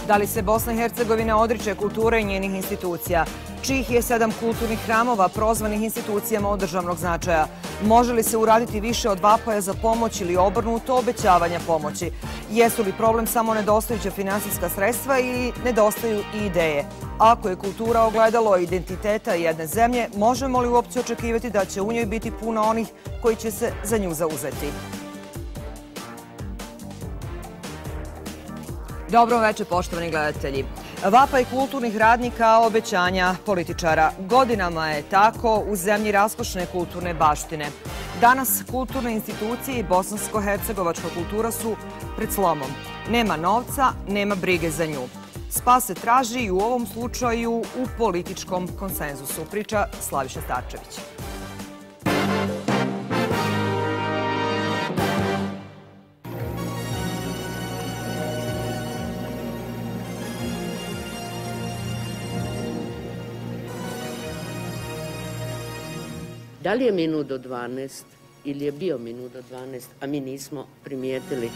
Da li se Bosna i Hercegovina odriče kulture i njenih institucija? Čijih je 7 kulturnih hramova prozvanih institucijama od državnog značaja? Može li se uraditi više od vapaja za pomoć ili obrnuto obećavanja pomoći? Jesu li problem samo nedostajuća finansijska sredstva ili nedostaju i ideje? Ako je kultura ogledalo identiteta jedne zemlje, možemo li uopće očekivati da će u njoj biti puno onih koji će se za nju zauzeti? Dobro večer, poštovani gledatelji. Vapaj kulturnih radnika, obećanja političara. Godinama je tako u zemlji raskošne kulturne baštine. Danas kulturne institucije i bosansko-hercegovačka kultura su pred slomom. Nema novca, nema brige za nju. Spas se traži i u ovom slučaju u političkom konsenzusu, priča Slaviša Starčević. Da li je minut do 12 ili je bio minut do 12, a mi nismo primijetili?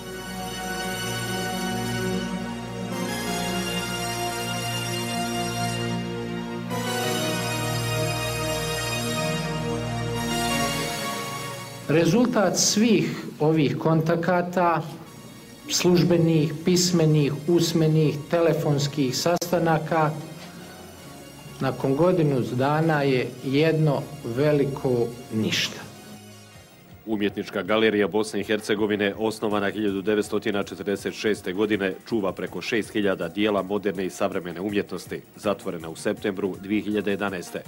Rezultat svih ovih kontakata, službenih, pismenih, usmenih, telefonskih sastanaka, nakon godinu dana je jedno veliko ništa. Umjetnička galerija Bosne i Hercegovine, osnovana 1946. godine, čuva preko 6000 dijela moderne i savremene umjetnosti, zatvorena u septembru 2011.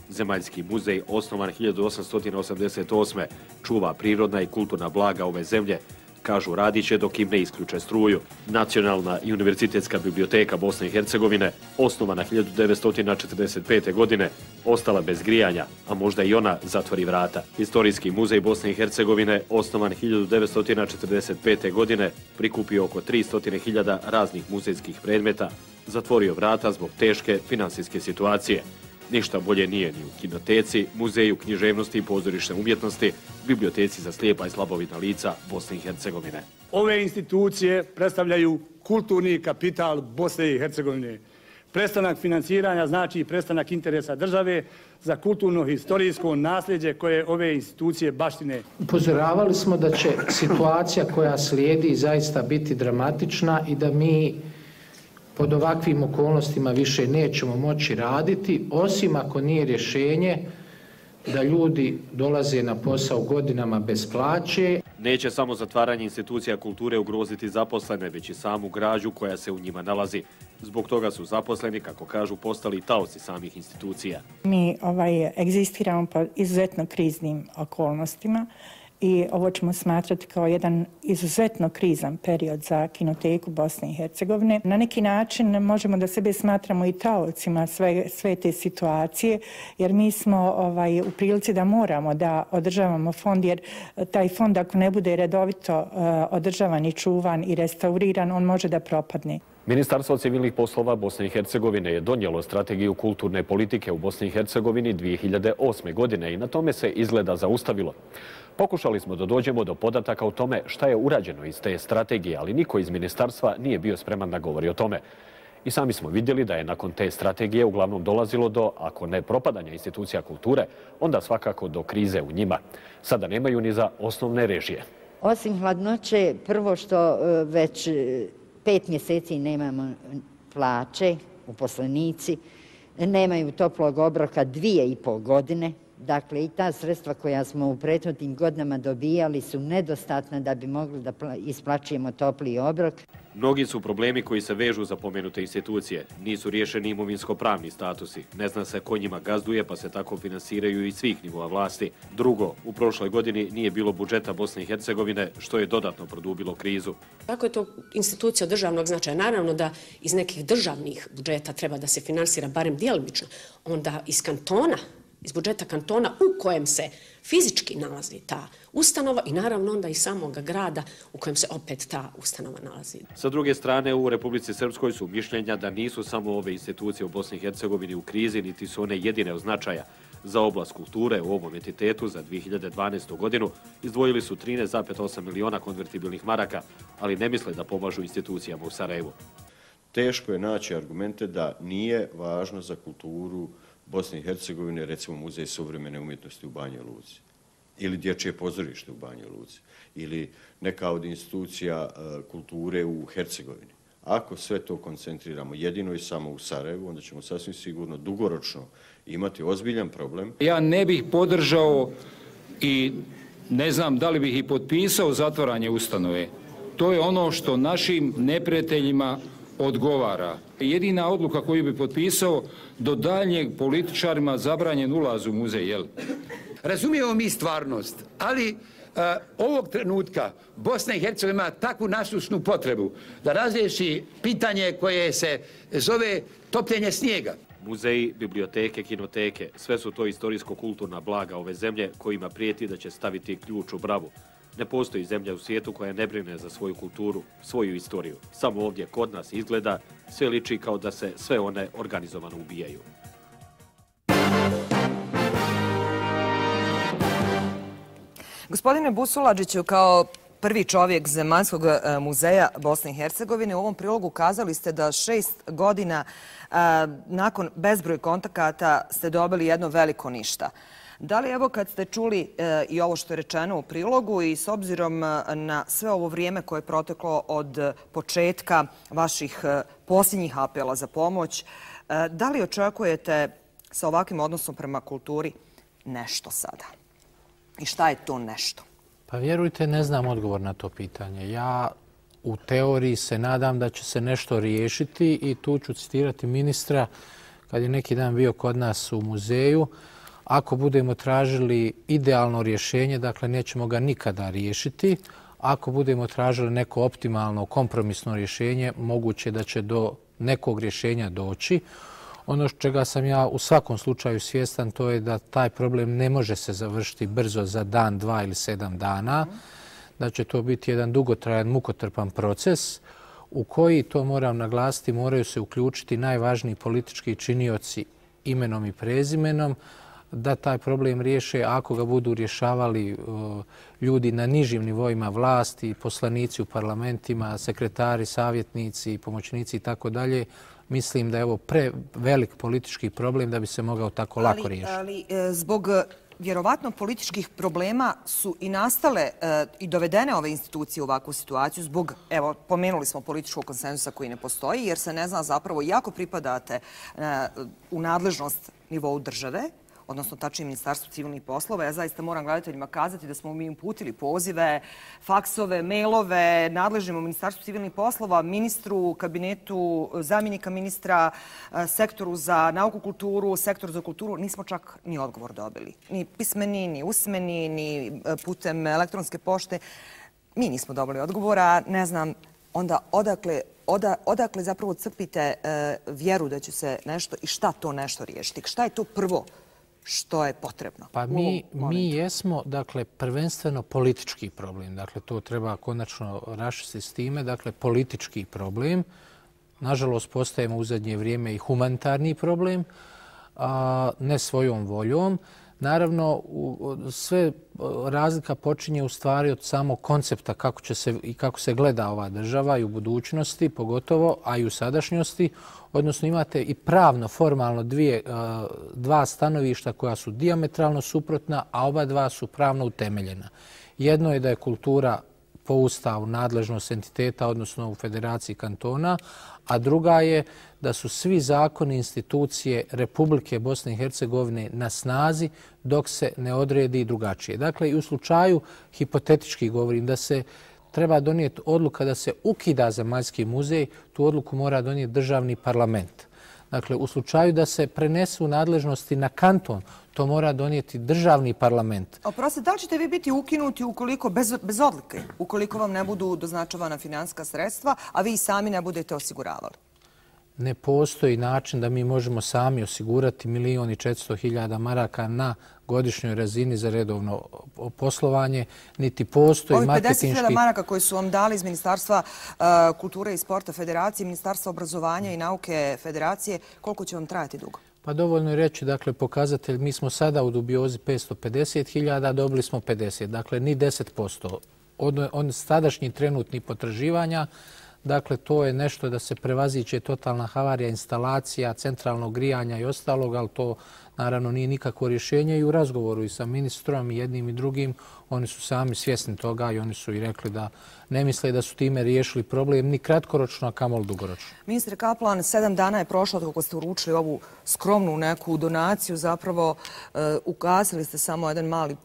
Zemaljski muzej, osnovan 1888. čuva prirodna i kulturna blaga ove zemlje. Kažu, radit će dok im ne isključe struju. Nacionalna i univerzitetska biblioteka Bosne i Hercegovine, osnovana 1945. godine, ostala bez grijanja, a možda i ona zatvori vrata. Istorijski muzej Bosne i Hercegovine, osnovan 1945. godine, prikupio oko 300.000 raznih muzejskih predmeta, zatvorio vrata zbog teške finansijske situacije. Ništa bolje nije ni u kinoteci, muzeju književnosti i pozorišne umjetnosti, biblioteci za slijepa i slabovidna lica Bosne i Hercegovine. Ove institucije predstavljaju kulturni kapital Bosne i Hercegovine. Prestanak financiranja znači prestanak interesa države za kulturno-historijsko nasljeđe koje ove institucije baštine. Upozoravali smo da će situacija koja slijedi zaista biti dramatična i da mi pod ovakvim okolnostima više nećemo moći raditi, osim ako nije rješenje da ljudi dolaze na posao godinama bez plaće. Neće samo zatvaranje institucija kulture ugroziti zaposlene, već i samu građu koja se u njima nalazi. Zbog toga su zaposleni, kako kažu, postali taoci samih institucija. Mi egzistiramo pod izuzetno kriznim okolnostima i ovo ćemo smatrati kao jedan izuzetno krizan period za kinoteku Bosne i Hercegovine. Na neki način možemo da sebe smatramo i taocima sve te situacije, jer mi smo u prilici da moramo da održavamo fond, jer taj fond ako ne bude redovito održavan i čuvan i restauriran, on može da propadne. Ministarstvo civilnih poslova Bosne i Hercegovine je donijelo strategiju kulturne politike u Bosni i Hercegovini 2008. godine i na tome se izgleda zaustavilo. Pokušali smo da dođemo do podataka o tome šta je urađeno iz te strategije, ali niko iz ministarstva nije bio spreman da govori o tome. I sami smo vidjeli da je nakon te strategije uglavnom dolazilo do, ako ne propadanja institucija kulture, onda svakako do krize u njima. Sada nemaju ni za osnovne režije. Osim hladnoće, prvo što već 5 mjeseci nemamo plaće, uposlenici, nemaju toplog obroka 2,5 godine. Dakle, i ta sredstva koja smo u prethodnim godinama dobijali su nedostatna da bi mogli da isplaćujemo topli obrok. Mnogi su problemi koji se vežu za pomenute institucije. Nisu riješeni imovinsko-pravni statusi. Ne zna se ko njima gazduje, pa se tako finansiraju i svih nivoa vlasti. Drugo, u prošloj godini nije bilo budžeta Bosne i Hercegovine, što je dodatno produbilo krizu. Kako je to institucija državnog značaja? Naravno da iz nekih državnih budžeta treba da se finansira barem djelomično. Onda iz kantona, iz budžeta kantona u kojem se fizički nalazi ta ustanova i naravno onda i samoga grada u kojem se opet ta ustanova nalazi. Sa druge strane, u Republici Srpskoj su mišljenja da nisu samo ove institucije u Bosni i Hercegovini u krizi, niti su one jedine od značaja. Za oblast kulture u ovom entitetu za 2012. godinu izdvojili su 13,8 miliona konvertibilnih maraka, ali ne misle da pomažu institucijama u Sarajevu. teško je naći argumente da nije važno za kulturu Bosne i Hercegovine, recimo Muzej suvremene umjetnosti u Banja Luci ili Dječje pozorište u Banja Luci ili neka od institucija kulture u Hercegovini. Ako sve to koncentriramo jedino i samo u Sarajevu, onda ćemo sasvim sigurno dugoročno imati ozbiljan problem. Ja ne bih podržao i ne znam da li bih i potpisao zatvaranje ustanove. To je ono što našim neprijateljima odgovara. Jedina odluka koju bi potpisao, do daljnjeg političarima zabranjen ulaz u muzej, jel? Razumijemo mi stvarnost, ali ovog trenutka Bosna i Hercegovina ima takvu nasušnu potrebu da razriješi pitanje koje se zove topljenje snijega. Muzeji, biblioteke, kinoteke, sve su to istorijsko-kulturna blaga ove zemlje kojima prijeti da će staviti ključ u bravu. Ne postoji zemlja u svijetu koja ne brine za svoju kulturu, svoju istoriju. Samo ovdje kod nas izgleda sve liči kao da se sve one organizovano ubijaju. Gospodine Busuladžiću, kao prvi čovjek Zemaljskog muzeja Bosne i Hercegovine, u ovom prilogu kazali ste da 6 godina nakon bezbroj kontakata ste dobili jedno veliko ništa. Da li evo kad ste čuli i ovo što je rečeno u prilogu i s obzirom na sve ovo vrijeme koje je proteklo od početka vaših posljednjih apela za pomoć, da li očekujete sa ovakvim odnosom prema kulturi nešto sada? I šta je to nešto? Pa vjerujte, ne znam odgovor na to pitanje. Ja u teoriji se nadam da će se nešto riješiti i tu ću citirati ministra kad je neki dan bio kod nas u muzeju. Ako budemo tražili idealno rješenje, dakle nećemo ga nikada riješiti. Ako budemo tražili neko optimalno kompromisno rješenje, moguće da će do nekog rješenja doći. Ono čega sam ja u svakom slučaju svjestan, to je da taj problem ne može se završiti brzo za dan, 2 ili 7 dana. Da će to biti jedan dugotrajan, mukotrpan proces u koji, to moram naglasiti, moraju se uključiti najvažniji politički činioci imenom i prezimenom, da taj problem riješe. Ako ga budu rješavali ljudi na nižim nivoima vlasti, poslanici u parlamentima, sekretari, savjetnici, pomoćnici i tako dalje, mislim da je ovo prevelik politički problem da bi se mogao tako lako riješiti. Ali zbog vjerovatno političkih problema su i nastale i dovedene ove institucije u ovakvu situaciju zbog, evo, pomenuli smo političkog konsenzusa koji ne postoji, jer se ne zna zapravo jako pripadate u nadležnost nivou države, odnosno tačnije Ministarstvu civilnih poslova. Ja zaista moram gledateljima kazati da smo mi uputili pozive, faksove, mailove nadležnim u Ministarstvu civilnih poslova, ministru, kabinetu, zamjenika ministra, sektoru za nauku, kulturu, sektoru za kulturu. Nismo čak ni odgovor dobili. Ni pismeni, ni usmeni, ni putem elektronske pošte. Mi nismo dobili odgovora. Ne znam onda odakle zapravo crpite vjeru da će se nešto i šta to nešto riješiti. Šta je to prvo što je potrebno? Pa mi jesmo, dakle, prvenstveno politički problem. Dakle, to treba konačno raščistiti s time. Dakle, politički problem. Nažalost, postajemo u zadnje vrijeme i humanitarni problem, ne svojom voljom. Naravno, sve razlika počinje u stvari od samog koncepta kako se gleda ova država i u budućnosti, pogotovo, a i u sadašnjosti. Odnosno imate i pravno, formalno dva stanovišta koja su dijametralno suprotna, a oba dva su pravno utemeljena. Jedno je da je kultura po Ustavu nadležnost entiteta, odnosno u Federaciji kantona, a druga je da su svi zakoni i institucije Republike Bosne i Hercegovine na snazi dok se ne odredi drugačije. Dakle, i u slučaju, hipotetički govorim, da se treba donijeti odluka da se ukida Zemaljski muzej, tu odluku mora donijeti državni parlament. Dakle, u slučaju da se prenesu nadležnosti na kanton, to mora donijeti državni parlament. Oprostite, da li ćete vi biti ukinuti ukoliko, bez odluke, ukoliko vam ne budu doznačavana financijska sredstva, a vi sami ne budete osiguravali? Ne postoji način da mi možemo sami osigurati 1.400.000 maraka na godišnjoj razini za redovno poslovanje, niti postoji marketinški... Ovi 50.000 maraka koji su vam dali iz Ministarstva kulture i sporta Federacije, Ministarstva obrazovanja i nauke Federacije, koliko će vam trajati dugo? Pa dovoljno je reći, dakle, pokazatelj, mi smo sada u dubiozi 550.000, dobili smo 50, dakle, ni 10%. Od sadašnjih trenutnih potraživanja, Dakle, to je nešto da se prevaziće totalna havarija instalacija, centralnog grijanja i ostalog, ali to naravno nije nikakvo rješenje i u razgovoru i sa ministrom i jednim i drugim oni su sami svjesni toga i oni su i rekli da ne misle da su time riješili problem ni kratkoročno, a kamoli dugoročno. Ministre Kaplan, 7 dana je prošlo od kako ste uručili ovu skromnu neku donaciju. Zapravo ugasili ste samo jedan mali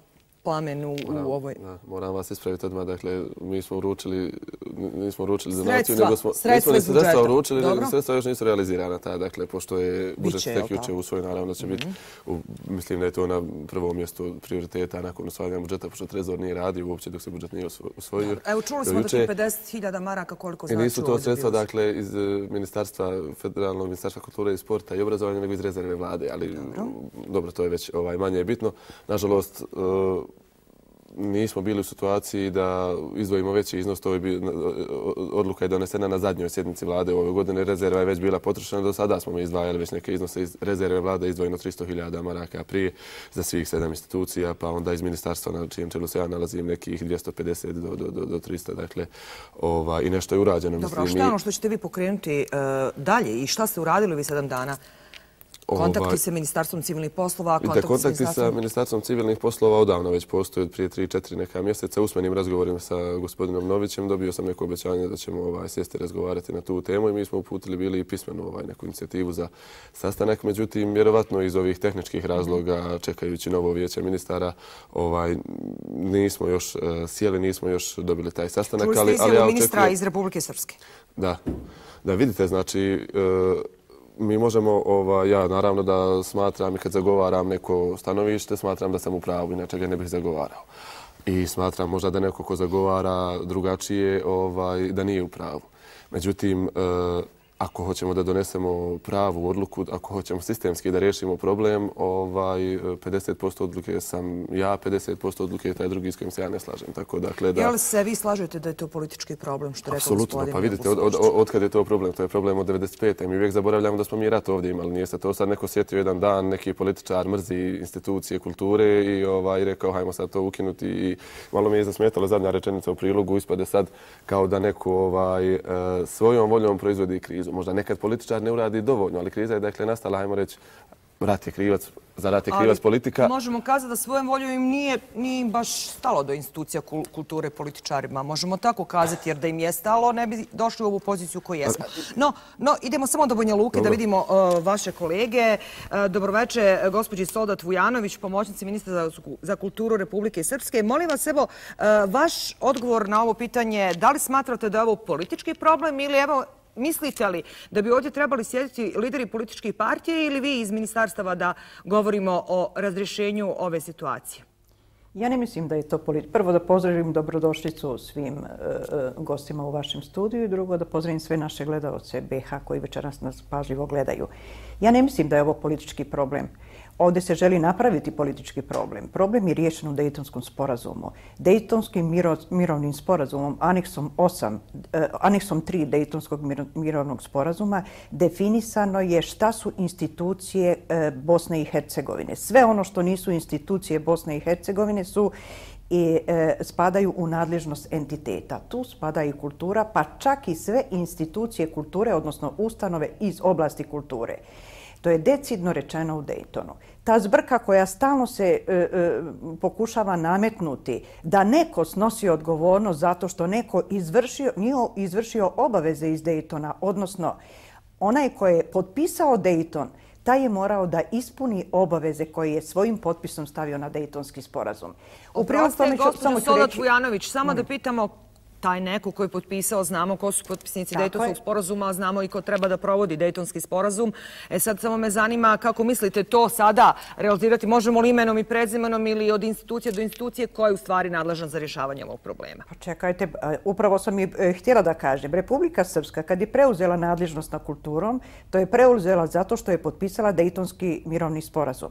plamen u ovoj... Moram vas ispraviti odmah. Dakle, mi smo uručili, nismo uručili donaciju, nego smo sredstva uručili, sredstva još nisu realizirana. Dakle, pošto je budžet tek jučer usvojen, naravno da će biti, mislim da je to na prvom mjestu prioriteta nakon usvajanja budžeta, pošto Trezor nije radio uopće dok se budžet nije usvojio. Evo, čuli smo da će 50.000 maraka koliko znači. I nisu to sredstva, dakle, iz Ministarstva, Federalnog ministarstva kulture i sporta i obrazovanja, nego iz rezerve vlade, ali dobro, to je već manje bitno. Nažalost, nismo bili u situaciji da izdvojimo veći iznos, to je odluka je donesena na zadnjoj sjednici vlade ove godine, rezerva je već bila potrošena, do sada smo mi izdvajali već neke iznose iz rezerve vlade, izdvojeno 300.000 maraka prije za svih 7 institucija, pa onda iz ministarstva na čijem čelu se ja nalazim nekih 250 do 300, dakle, i nešto je urađeno. Dobro, a što je ono što ćete vi pokrenuti dalje i šta ste uradili vi 7 dana? Kontakti sa Ministarstvom civilnih poslova, kontakti sa Ministarstvom civilnih poslova odavno već postoje od prije 3-4 neka mjeseca. Usmenim razgovorima sa gospodinom Novićem dobio sam neko obećanje da ćemo sjesti razgovarati na tu temu i mi smo uputili bili i pismenu neku inicijativu za sastanak. Međutim, vjerovatno iz ovih tehničkih razloga, čekajući novo vijeće ministara, nismo još sjeli, nismo još dobili taj sastanak. Čuli ste izjavu ministra iz Republike Srpske? Da, vidite, znači, mi možemo, ja naravno da smatram i kad zagovaram neko stanovište, smatram da sam u pravu, inače ga ne bih zagovarao. I smatram možda da neko ko zagovara drugačije, da nije u pravu. Međutim, ako hoćemo da donesemo pravu odluku, ako hoćemo sistemski da riješimo problem, 50% odluke sam ja, 50% odluke je taj drugi s kojim se ja ne slažem. Tako, dakle, da... Jel se vi slažete da je to politički problem, što rekao gospodin? Apsolutno, pa vidite, od kad je to problem? To je problem od 95. Mi uvijek zaboravljamo da smo mi rat ovdje imali. Nije se to sad neko sjetio jedan dan, neki političar mrzi institucije kulture i rekao hajmo sad to ukinuti. I malo mi je zasmetalo zadnja rečenica u prilogu, ispade sad kao da neko svojom voljom proizvodi krizu. Možda nekad političar ne uradi dovoljno, ali kriza je dakle nastala, hajmo reći, rat je krivac, za rat je krivac politika. Ali možemo kazati da svojom voljom im nije baš stalo do institucija kulture političarima. Možemo tako kazati, jer da im je stalo, ne bi došli u ovu poziciju koju jesmo. No, idemo samo do Banja Luke da vidimo vaše kolege. Dobroveče, gospođi Soldat Vujanović, pomoćnici ministra za kulturu Republike Srpske. Molim vas, evo, vaš odgovor na ovo pitanje, da li smatrate da je ovo politički problem ili evo, mislite li da bi ovdje trebali sjediti lideri političkih partija ili vi iz ministarstava da govorimo o razrješenju ove situacije? Ja ne mislim da je to politički. Prvo da pozdravim dobrodošlicu svim gostima u vašem studiju i drugo da pozdravim sve naše gledalce BH koji večeras nas pažljivo gledaju. Ja ne mislim da je ovo politički problem. Ovdje se želi napraviti politički problem. Problem je riješen u Dejtonskom sporazumu. Dejtonskim mirovnim sporazumom, aneksom 3 Dejtonskog mirovnog sporazuma, definisano je šta su institucije Bosne i Hercegovine. Sve ono što nisu institucije Bosne i Hercegovine spadaju u nadležnost entiteta. Tu spada i kultura, pa čak i sve institucije kulture, odnosno ustanove iz oblasti kulture. To je decidno rečeno u Dejtonu. Ta zbrka koja stalno se pokušava nametnuti da neko snosi odgovornost zato što neko nije izvršio obaveze iz Dejtona, odnosno onaj koji je potpisao Dejton, taj je morao da ispuni obaveze koje je svojim potpisom stavio na Dejtonski sporazum. Oprostite, gospođo Soldat Vujanović, samo da pitamo taj neko koji je potpisao, znamo ko su potpisnici Dejtonskog sporazuma, znamo i ko treba da provodi Dejtonski sporazum. Sad samo me zanima kako mislite to sada realizirati. Možemo li imenom i prezimenom ili od institucije do institucije ko je u stvari nadležan za rješavanje ovog problema? Pa čekajte, upravo sam i htjela da kažem. Republika Srpska kad je preuzela nadležnost nad kulturom, to je preuzela zato što je potpisala Dejtonski mirovni sporazum.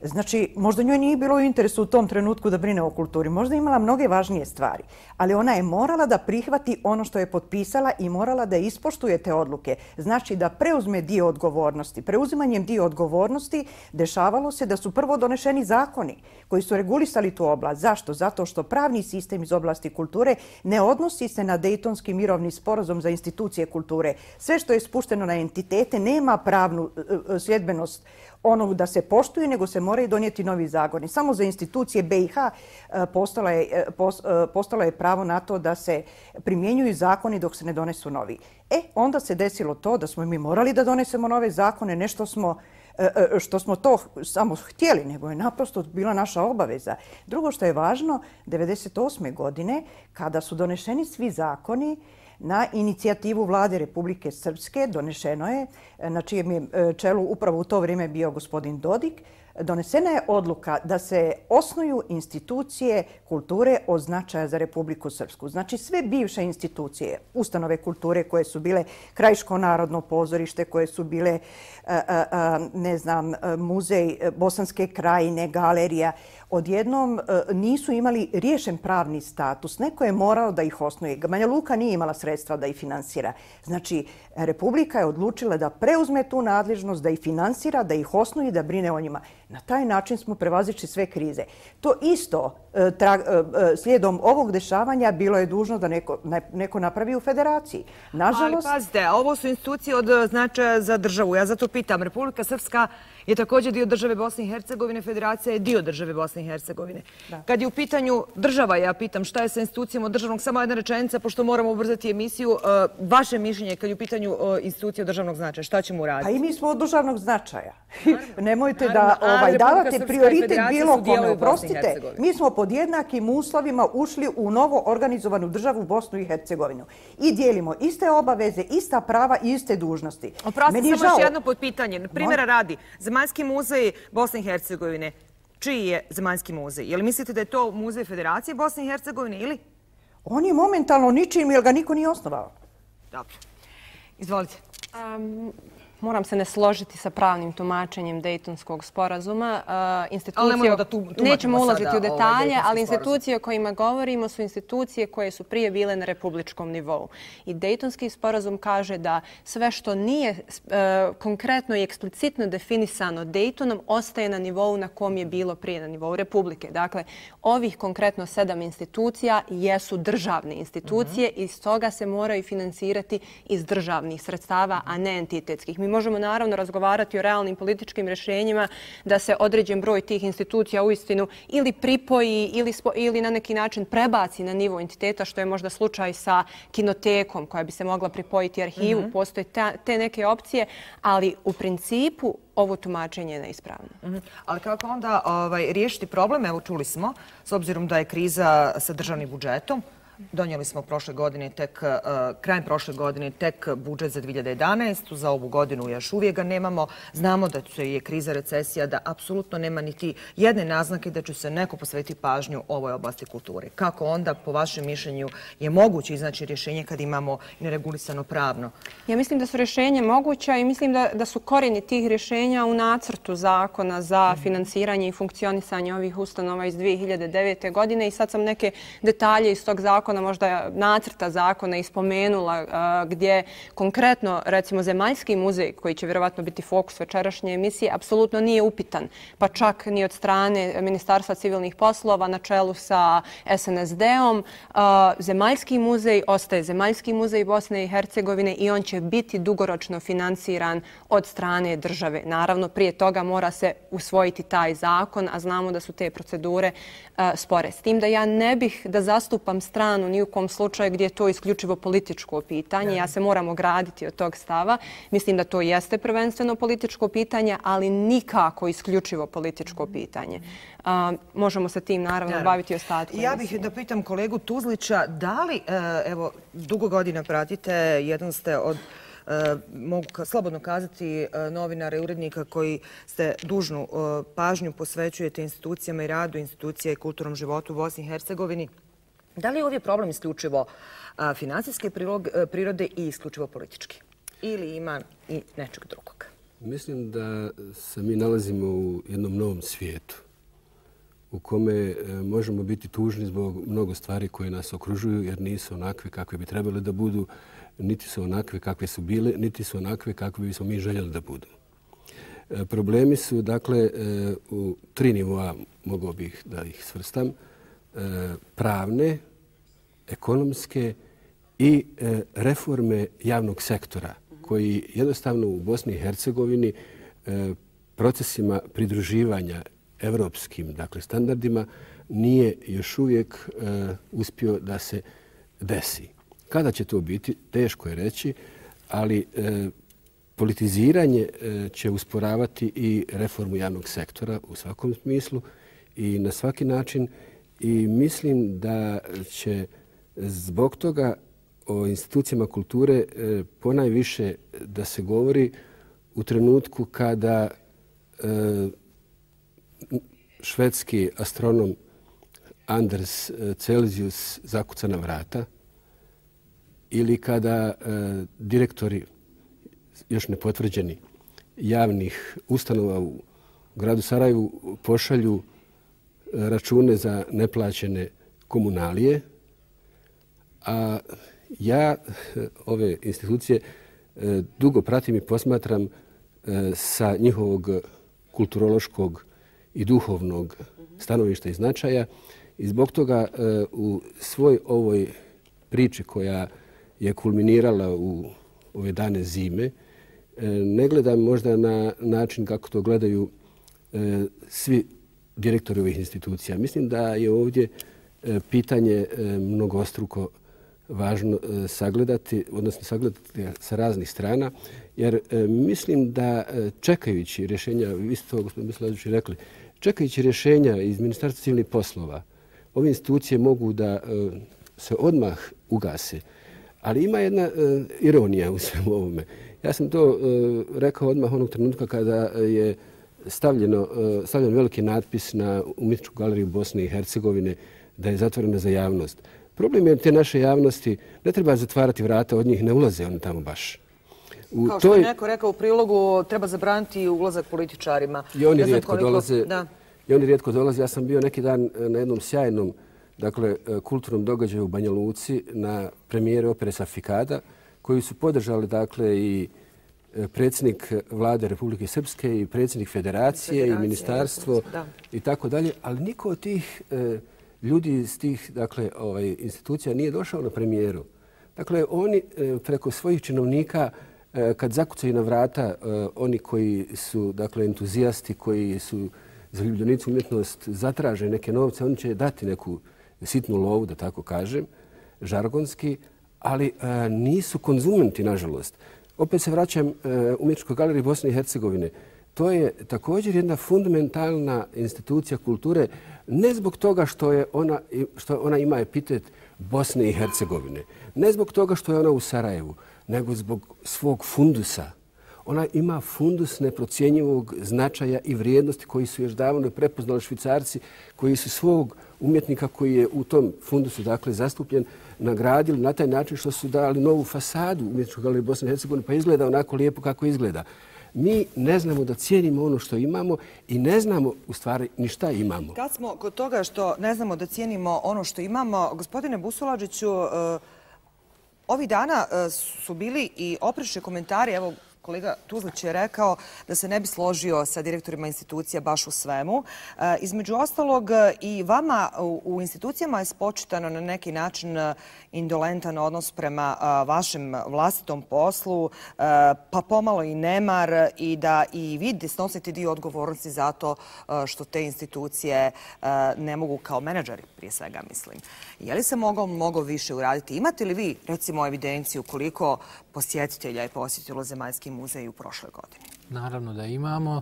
Znači, možda njoj nije bilo u interesu u tom trenutku da brine o kulturi. Možda je imala mnoge važnije stvari. Ali ona je morala da prihvati ono što je potpisala i morala da ispoštuje te odluke. Znači da preuzme dio odgovornosti. Preuzimanjem dio odgovornosti dešavalo se da su prvo donešeni zakoni koji su regulisali tu oblast. Zašto? Zato što pravni sistem iz oblasti kulture ne odnosi se na Dejtonski mirovni sporazum za institucije kulture. Sve što je spušteno na entitete nema pravnu sljedbenost onog da se poštuju, nego se moraju donijeti novi zakoni. Samo za institucije BiH postalo je pravo na to da se primjenjuju zakoni dok se ne donesu novi. Onda se desilo to da smo mi morali da donesemo nove zakone, nešto što smo to samo htjeli, nego je naprosto bila naša obaveza. Drugo što je važno, 1998. godine, kada su donešeni svi zakoni, na inicijativu Vlade Republike Srpske donešeno je, na čijem je čelu upravo u to vrijeme bio gospodin Dodik, donesena je odluka da se osnuju institucije kulture od značaja za Republiku Srpsku. Znači sve bivše institucije, ustanove kulture koje su bile Krajiško narodno pozorište, koje su bile, muzej Bosanske krajine, galerija, odjednom nisu imali riješen pravni status. Neko je morao da ih osnuje. Banja Luka nije imala sredstva da ih finansira. Znači, Republika je odlučila da preuzme tu nadležnost, da ih finansira, da ih osnuje i da brine o njima. Na taj način smo prevazišli sve krize. To isto slijedom ovog dešavanja bilo je dužno da neko napravi u federaciji. Nažalost... Ali pazite, ovo su institucije od značaja za državu. Ja zato pitam, Republika Srpska je također dio države Bosne i Hercegovine, federacija je dio države Bosne i Hercegovine. Kad je u pitanju država, ja pitam šta je sa institucijama od državnog, samo jedna rečenica, pošto moramo ubrzati emisiju, vaše mišljenje kad je u pitanju institucije od državnog značaja, šta ćemo uraditi? Pa i mi smo od državnog značaja. Nemojte da davate prioritet bilo kome. Oprostite, mi smo pod jednakim uslovima ušli u novo organizovanu državu Bosnu i Hercegovinu i dijelimo iste obaveze, ista prava i iste dužnosti. Oprostite, samo još jedno podpitanje. Primjera radi, Zemaljski muzej Bosne i Hercegovine, čiji je Zemaljski muzej? Je li mislite da je to muzej Federacije Bosne i Hercegovine ili? On je momentalno ničim jer ga niko nije osnovao. Dobro. Izvolite. Moram se ne složiti sa pravnim tumačenjem Dejtonskog sporazuma. Nećemo ulaziti u detalje, ali institucije o kojima govorimo su institucije koje su prije bile na republičkom nivou. I Dejtonski sporazum kaže da sve što nije konkretno i eksplicitno definisano Dejtonom ostaje na nivou na kom je bilo prije, na nivou Republike. Dakle, ovih konkretno 7 institucija jesu državne institucije i stoga se moraju finansirati iz državnih sredstava, a ne entitetskih. Mi možemo naravno razgovarati o realnim političkim rješenjima da se određen broj tih institucija uistinu ili pripoji ili na neki način prebaci na nivo entiteta, što je možda slučaj sa kinotekom koja bi se mogla pripojiti arhivu. Postoje te neke opcije, ali u principu ovo tumačenje je neispravno. Ali kako onda riješiti problem? Evo čuli smo, s obzirom da je kriza sa državnim budžetom, donijeli smo krajem prošle godine tek budžet za 2011. Za ovu godinu još uvijek ga nemamo. Znamo da je kriza, recesija, da apsolutno nema niti jedne naznake da će se neko posvetiti pažnju ovoj oblasti kulture. Kako onda, po vašem mišljenju, je moguće iznaći rješenje kad imamo neregulisano pravno? Ja mislim da su rješenja moguća i mislim da su korijeni tih rješenja u nacrtu zakona za finansiranje i funkcionisanje ovih ustanova iz 2009. godine i sad sam neke detalje iz tog zakona, možda nacrta zakona ispomenula, gdje konkretno, recimo, Zemaljski muzej, koji će vjerovatno biti fokus večerašnje emisije, apsolutno nije upitan, pa čak ni od strane Ministarstva civilnih poslova na čelu sa SNSD-om. Zemaljski muzej ostaje Zemaljski muzej Bosne i Hercegovine i on će biti dugoročno finansiran od strane države. Naravno, prije toga mora se usvojiti taj zakon, a znamo da su te procedure spore. S tim da ja ne bih da zastupam stranu ni u kom slučaju gdje je to isključivo političko pitanje. Ja se moram ograditi od tog stava. Mislim da to jeste prvenstveno političko pitanje, ali nikako isključivo političko pitanje. Možemo se tim naravno baviti ostatkom. Ja bih da pitam kolegu Tuzlića, da li, evo, dugo godina pratite, jedan ste od, mogu slobodno kazati, novinara i urednika koji ste dužnu pažnju posvećujete institucijama i radu institucija i kulturnom životu u Bosni i Hercegovini. Da li je ovdje problem isključivo finansijske prirode i isključivo politički? Ili ima i nečeg drugog? Mislim da se mi nalazimo u jednom novom svijetu u kome možemo biti tužni zbog mnogo stvari koje nas okružuju jer nisu onakve kakve bi trebali da budu, niti su onakve kakve su bile, niti su onakve kakve bismo mi željeli da budu. Problemi su, dakle, u 3 nivoa, mogao bih da ih svrstam, pravne, ekonomske i reforme javnog sektora koji jednostavno u Bosni i Hercegovini procesima pridruživanja evropskim, dakle, standardima nije još uvijek uspio da se desi. Kada će to biti, teško je reći, ali politiziranje će usporavati i reformu javnog sektora u svakom smislu i na svaki način i mislim da će zbog toga o institucijama kulture ponajviše da se govori u trenutku kada švedski astronom Anders Celsius zakuca na vrata ili kada direktori još nepotvrđeni javnih ustanova u gradu Sarajevu pošalju račune za neplaćene komunalije, a ja ove institucije dugo pratim i posmatram sa njihovog kulturološkog i duhovnog stanovišta i značaja i zbog toga u svoj ovoj priči koja je kulminirala u ove dane zime ne gledam možda na način kako to gledaju svi direktori ovih institucija. Mislim da je ovdje pitanje mnogostruko važno sagledati, odnosno sagledati sa raznih strana, jer mislim da čekajući rješenja, vi ste to, gospodin Mislavić, rekli, čekajući rješenja iz Ministarstva civilnih poslova, ove institucije mogu da se odmah ugase. Ali ima jedna ironija u svemu ovome. Ja sam to rekao odmah onog trenutka kada je stavljen veliki natpis na Umjetničku galeriju Bosne i Hercegovine da je zatvorena za javnost. Problem je te naše javnosti, ne treba zatvarati vrata, od njih ne ulaze oni tamo baš. Kao što je neko rekao u prilogu, treba zabraniti ulazak političarima. I oni rijetko dolaze. Ja sam bio neki dan na jednom sjajnom kulturnom događaju u Banja Luci na premijeri opere Safikada, koju su podržali i predsjednik vlade Republike Srpske i predsjednik federacije i ministarstvo i tako dalje, ali niko od tih ljudi iz tih institucija nije došao na premijeru. Dakle, oni preko svojih činovnika kad zakucaju na vrata oni koji su entuzijasti, koji su zaljubljenici umjetnost, zatraže neke novce, oni će dati neku sitnu lovu, da tako kažem, žargonski, ali nisu konzumenti, nažalost. Opet se vraćam Umjetničkoj galeriji Bosne i Hercegovine. To je također jedna fundamentalna institucija kulture, ne zbog toga što ona ima epitet Bosne i Hercegovine, ne zbog toga što je ona u Sarajevu, nego zbog svog fundusa. Ona ima fundus neprocjenjivog značaja i vrijednosti koji su još davno prepoznali Švicarci, koji su svog umjetnika koji je u tom fundusu zastupljen, nagradili na taj način što su dali novu fasadu Umjetničkoj galeriji Bosne i Hercegovine, pa izgleda onako lijepo kako izgleda. Mi ne znamo da cijenimo ono što imamo i ne znamo u stvari ni šta imamo. Kad smo kod toga što ne znamo da cijenimo ono što imamo, gospodine Busulađiću, ovih dana su bili i oprečni komentari, evo kolega Tuzlić je rekao da se ne bi složio sa direktorima institucija baš u svemu. Između ostalog i vama u institucijama je spočitano na neki način indolentan odnos prema vašem vlastitom poslu, pa pomalo i nemar i da i vi snosite dio odgovornosti za to što te institucije ne mogu kao menadžeri, prije svega mislim. Je li se moglo više uraditi? Imate li vi, recimo, evidenciju koliko posjetitelja je posjetilo Zemaljski muzej u prošloj godini? Naravno da imamo.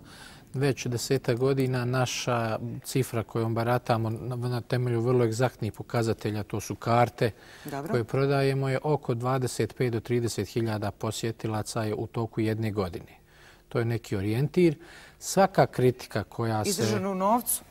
Već 10 godina naša cifra kojom baratamo na temelju vrlo egzaktnih pokazatelja, to su karte koje prodajemo, je oko 25 do 30 hiljada posjetilaca je u toku jedne godine. To je neki orijentir. Svaka kritika koja se... Izražena u novcu?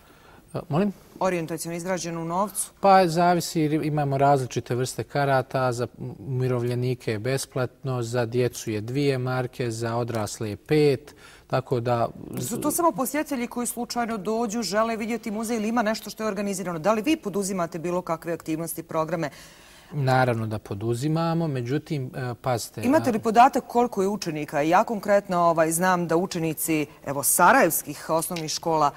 Molim? Orijentacijono izrađen u novcu? Pa zavisi, imamo različite vrste karata, za umirovljenike je besplatno, za djecu je 2 marke, za odrasle je 5, tako da... Su to samo posjetitelji koji slučajno dođu, žele vidjeti muzej ili ima nešto što je organizirano? Da li vi poduzimate bilo kakve aktivnosti, programe? Naravno da poduzimamo, međutim, pazite... Imate li podatak koliko je učenika? Ja konkretno znam da učenici sarajevskih osnovnih škola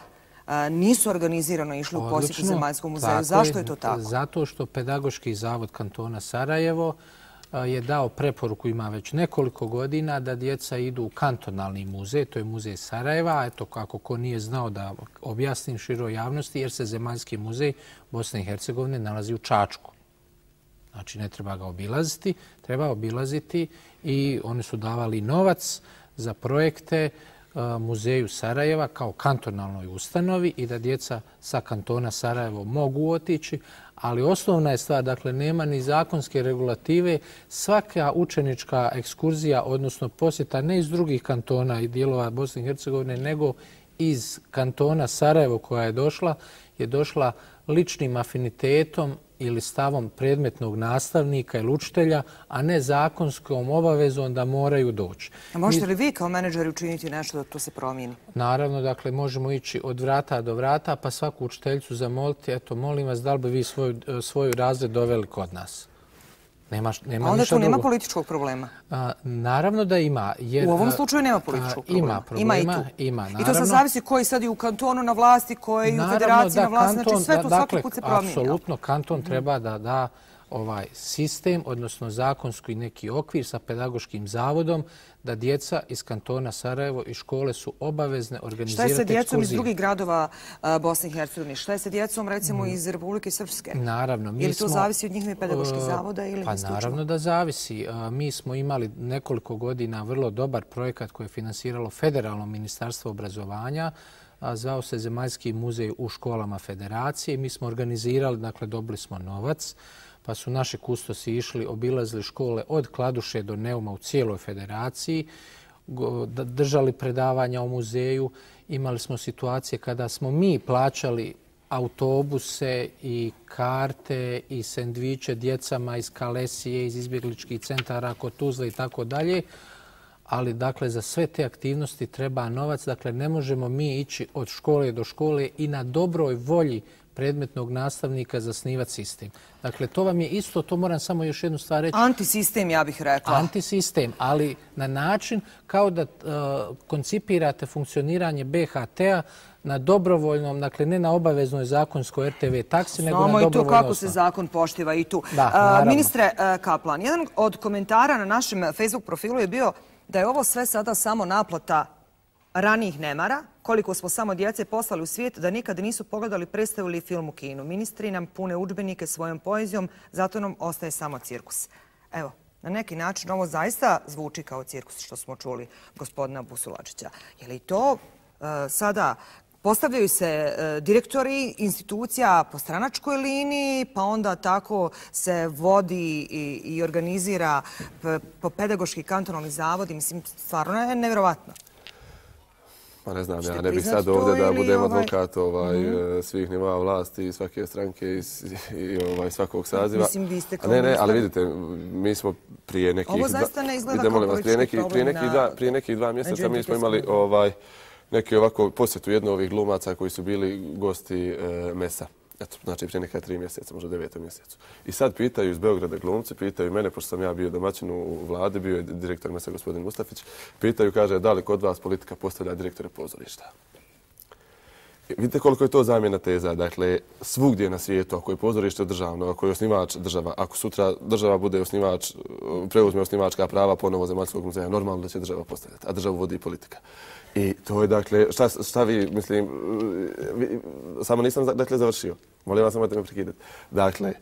nisu organizirano išli u posjetu Zemaljskom muzeju. Zašto je to tako? Zato što Pedagoški zavod kantona Sarajevo je dao preporuku, ima već nekoliko godina, da djeca idu u kantonalni muzej, to je muzej Sarajeva. Eto, kako ko nije znao da objasnim široj javnosti, jer se Zemaljski muzej Bosne i Hercegovine nalazi u Čačku. Znači, ne treba ga obilaziti, treba obilaziti i oni su davali novac za projekte muzeju Sarajeva kao kantonalnoj ustanovi i da djeca sa kantona Sarajevo mogu otići, ali osnovna je stvar, dakle, nema ni zakonske regulative. Svaka učenička ekskurzija, odnosno posjeta ne iz drugih kantona i dijelova Bosne i Hercegovine, nego iz kantona Sarajevo koja je došla ličnim afinitetom ili stavom predmetnog nastavnika ili učitelja, a ne zakonskom obavezom da moraju doći. A možete li vi kao menadžeri učiniti nešto da to se promijeni? Naravno, dakle, možemo ići od vrata do vrata, pa svaku učiteljicu zamoliti, eto, molim vas, da li bi vi svoju razred doveli kod nas? A onda tu nema političkog problema? Naravno da ima. U ovom slučaju nema političkog problema. Ima problema. Ima i tu. I to sad zavisi koji sad i u kantonu na vlasti, koji u federaciji na vlasti. Znači sve to svaki put se promijenja. Apsolutno, kanton treba da da sistem, odnosno zakonski neki okvir sa pedagoškim zavodom, da djeca iz kantona Sarajevo i škole su obavezne organizirati ekskurzije. Šta je sa djecom iz drugih gradova Bosne i Hercegovine? Šta je sa djecom, recimo, iz Republike Srpske? Naravno. Ili to zavisi od njihovih pedagoških zavoda ili pa naravno da zavisi. Mi smo imali nekoliko godina vrlo dobar projekat koji je finansiralo Federalno ministarstvo obrazovanja. Zvao se Zemaljski muzej u školama federacije. Mi smo organizirali, dakle, dobili smo novac, pa su naši kustosi išli, obilazili škole od Kladuše do Neuma u cijeloj federaciji, držali predavanja o muzeju. Imali smo situacije kada smo mi plaćali autobuse i karte i sendviče djecama iz Kalesije, iz izbjegličkih centara kod Tuzle i tako dalje. Ali, dakle, za sve te aktivnosti treba novac. Dakle, ne možemo mi ići od škole do škole i na dobroj volji predmetnog nastavnika zasnivati sistem. Dakle, to vam je isto, to moram samo još jednu stvar reći. Antisistem, ja bih rekla. Antisistem, ali na način kao da koncipirate funkcioniranje BHT-a na dobrovoljnom, dakle ne na obaveznoj zakonskoj RTV taksi, nego na dobrovoljnoj osnovi. Znamo i to kako se zakon poštiva i tu. Ministre Kaplan, jedan od komentara na našem Facebook profilu je bio da je ovo sve sada samo naplata ranijih nemara, koliko smo samo djece poslali u svijet da nikada nisu pogledali predstavu ili film u kinu. Ministri nam pune udžbenike svojom poezijom, zato nam ostaje samo cirkus. Evo, na neki način ovo zaista zvuči kao cirkus što smo čuli gospodina Busulačića. Je li to sada postavljaju se direktori institucija po stranačkoj liniji, pa onda tako se vodi i organizira po pedagoški kantonalni zavodi? Mislim, stvarno je nevjerovatno. Pa ne znam, ja ne bih sad ovdje da budem advokat svih nivoa vlasti i svake stranke i svakog saziva. Mislim, vi ste kao Ne, ali vidite, mi smo prije nekih... Ovo zaista ne izgleda kao politički problem. Prije nekih 2 mjeseca mi smo imali neki ovako posjetu jednog ovih glumaca koji su bili gosti Mesa. Eto, znači prije neka 3 mjeseca, možda 9. mjesecu. I sad pitaju iz Beograda glumci, pitaju mene, pošto sam ja bio domaćin u vladi, bio je direktor Mesa gospodin Mustafić, pitaju, kaže, da li kod vas politika postavlja direktore pozorišta? Vidite koliko je to zamjena teza. Dakle, svugdje na svijetu, ako je pozorište državno, ako je osnivač država, ako sutra država bude osnivač, preuzme osnivačka prava ponovo Zemaljskog muzeja, normalno da će država postavljati, a državu vodi politika. I to je, dakle, šta vi, mislim, samo nisam, dakle, završio. Molim vas, nemojte me prekidati. Dakle,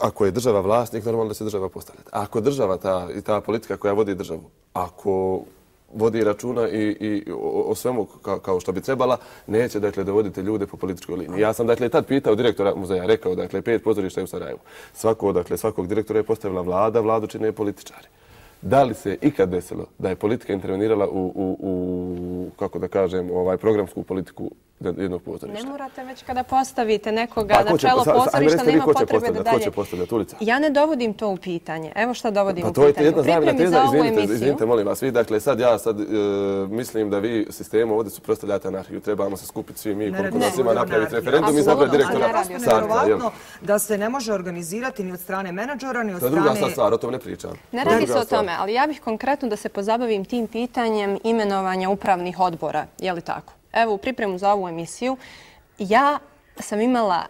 ako je država vlasnik, normalno da će država postavljati. Ako država i ta politika koja vodi državu, ako vodi računa i o svemu kao što bi trebala, neće, dakle, dovoditi ljude po političkoj liniji. Ja sam, dakle, tad pitao direktora muzeja, rekao, dakle, 5 pozorišta je u Sarajevu. Svakog direktora je postavila vlada, vladu čine političari. Da li se ikad desilo da je politika intervenirala u kako da kažem, programsku politiku jednog pozorišta. Ne morate već kada postavite nekoga na čelo pozorišta, nema potrebe da dalje. Ko će postavljati ulica? Ja ne dovodim to u pitanje. Evo šta dovodim u pitanje. U pripremi za ovu emisiju. Izvinite, molim vas, vi, dakle, sad mislim da vi sistemu ovdje suprotstavljate anarhiju. Trebamo se skupiti svi mi, koliko nas ima, napraviti referendum i zapravo direktora Sarta. Da se ne može organizirati ni od strane menadžera, ni od strane... To je druga stvar, o tom ne pričam. Ne radi se o tome, ali ja bih konkretno da se pozabavim tim pitanjem imenovanja upravnih odbora. Je li tako? Evo, u pripremu za ovu emisiju, ja sam imala,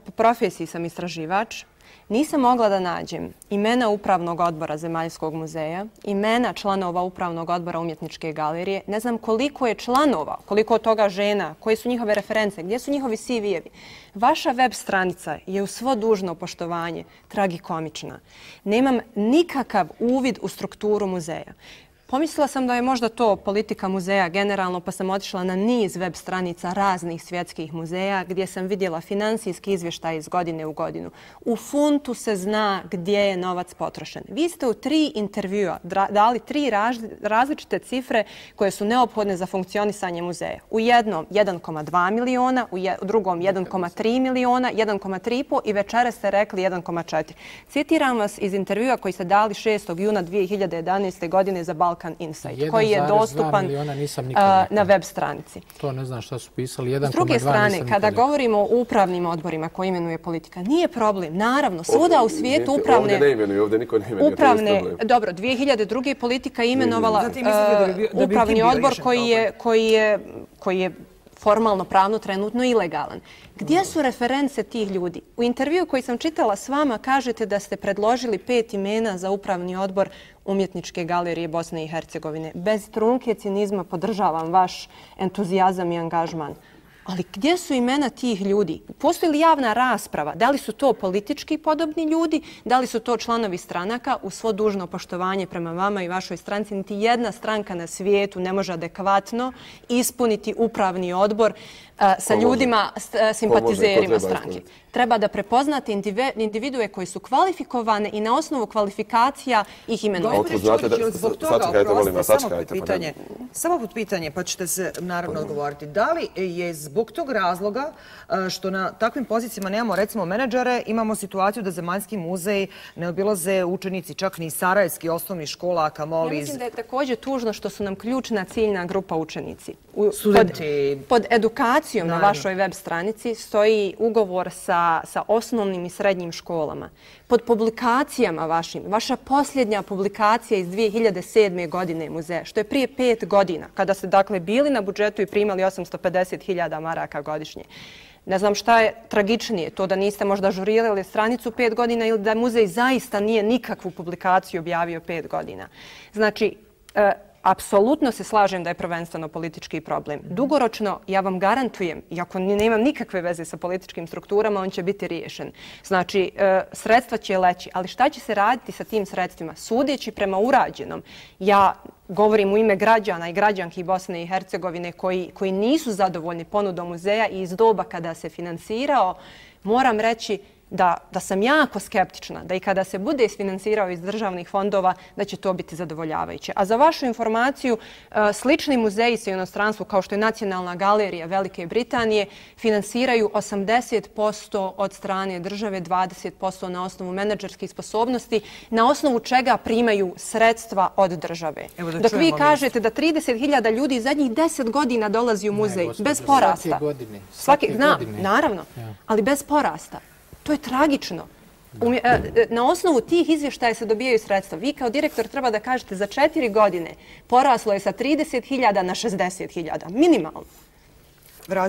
po profesiji sam istraživač, nisam mogla da nađem imena Upravnog odbora Zemaljskog muzeja, imena članova Upravnog odbora Umjetničke galerije, ne znam koliko je članova, koliko od toga žena, koje su njihove reference, gdje su njihovi CV-evi. Vaša web stranica je u svo dužno poštovanje tragikomična. Nemam nikakav uvid u strukturu muzeja. Pomislila sam da je možda to politika muzeja generalno, pa sam otišla na niz web stranica raznih svjetskih muzeja gdje sam vidjela finansijski izvještaj iz godine u godinu. U funtu se zna gdje je novac potrošen. Vi ste u 3 intervjua dali 3 različite cifre koje su neophodne za funkcionisanje muzeja. U jednom 1,2 miliona, u drugom 1,3 miliona, 1,3,5 i večera ste rekli 1,4. Citiram vas iz intervjua koji ste dali 6. juna 2011. godine za Balkan Insight, koji je dostupan na web stranici. To ne znam šta su pisali. 1,2 S druge strane, kada govorimo o upravnim odborima koje imenuje politika, nije problem. Naravno, svuda u svijetu upravne... Ovdje ne imenuju, ovdje niko ne imenuje. Dobro, 2002. politika imenovala upravni odbor koji je formalno pravno trenutno ilegalan. Gdje su reference tih ljudi? U intervju koji sam čitala s vama kažete da ste predložili 5 imena za upravni odbor Umjetničke galerije Bosne i Hercegovine. Bez trunke cinizma podržavam vaš entuzijazam i angažman. Ali gdje su imena tih ljudi? Postoji li javna rasprava? Da li su to politički podobni ljudi? Da li su to članovi stranaka? U svo dužno poštovanje prema vama i vašoj stranci, niti jedna stranka na svijetu ne može adekvatno ispuniti upravni odbor sa ljudima, simpatizerima stranke. Treba da prepoznate individue koji su kvalifikovane i na osnovu kvalifikacija ih imenujete. Samo pod pitanje, pa ćete se naravno odgovoriti. Da li je zbog tog razloga što na takvim pozicijama nemamo recimo menadžere, imamo situaciju da Zemaljski muzej ne obilaze učenici, čak ni sarajevski osnovnih škola, a kamoli... Ja mislim da je također tužno što su nam ključna ciljna grupa učenici. Studenti. Pod edukacijom na vašoj web stranici stoji ugovor sa osnovnim i srednjim školama. Pod publikacijama vašim, vaša posljednja publikacija iz 2007. godine muzeja, što je prije 5 godina, kada ste dakle bili na budžetu i primali 850.000 maraka godišnje. Ne znam šta je tragičnije, to da niste možda ažurirali stranicu 5 godina ili da muzej zaista nije nikakvu publikaciju objavio 5 godina. Znači, apsolutno se slažem da je prvenstveno politički problem. Dugoročno, ja vam garantujem, iako nemam nikakve veze sa političkim strukturama, on će biti riješen. Znači, sredstva će leći, ali šta će se raditi sa tim sredstvima? Sudeći prema urađenom, ja govorim u ime građana i građanki Bosne i Hercegovine koji nisu zadovoljni ponudom muzeja i iz doba kada se finansirao, moram reći da sam jako skeptična da i kada se bude isfinansirao iz državnih fondova da će to biti zadovoljavajuće. A za vašu informaciju, slični muzeji sa inostranstvu kao što je Nacionalna galerija Velike Britanije finansiraju 80% od strane države, 20% na osnovu menadžerskih sposobnosti, na osnovu čega primaju sredstva od države. Dok vi kažete da 30.000 ljudi zadnjih 10 godina dolazi u muzej bez porasta. Svake godine. Naravno, ali bez porasta. To je tragično. Na osnovu tih izvještaja se dobijaju sredstva. Vi kao direktor treba da kažete za 4 godine poraslo je sa 30.000 na 60.000. Minimalno. Ja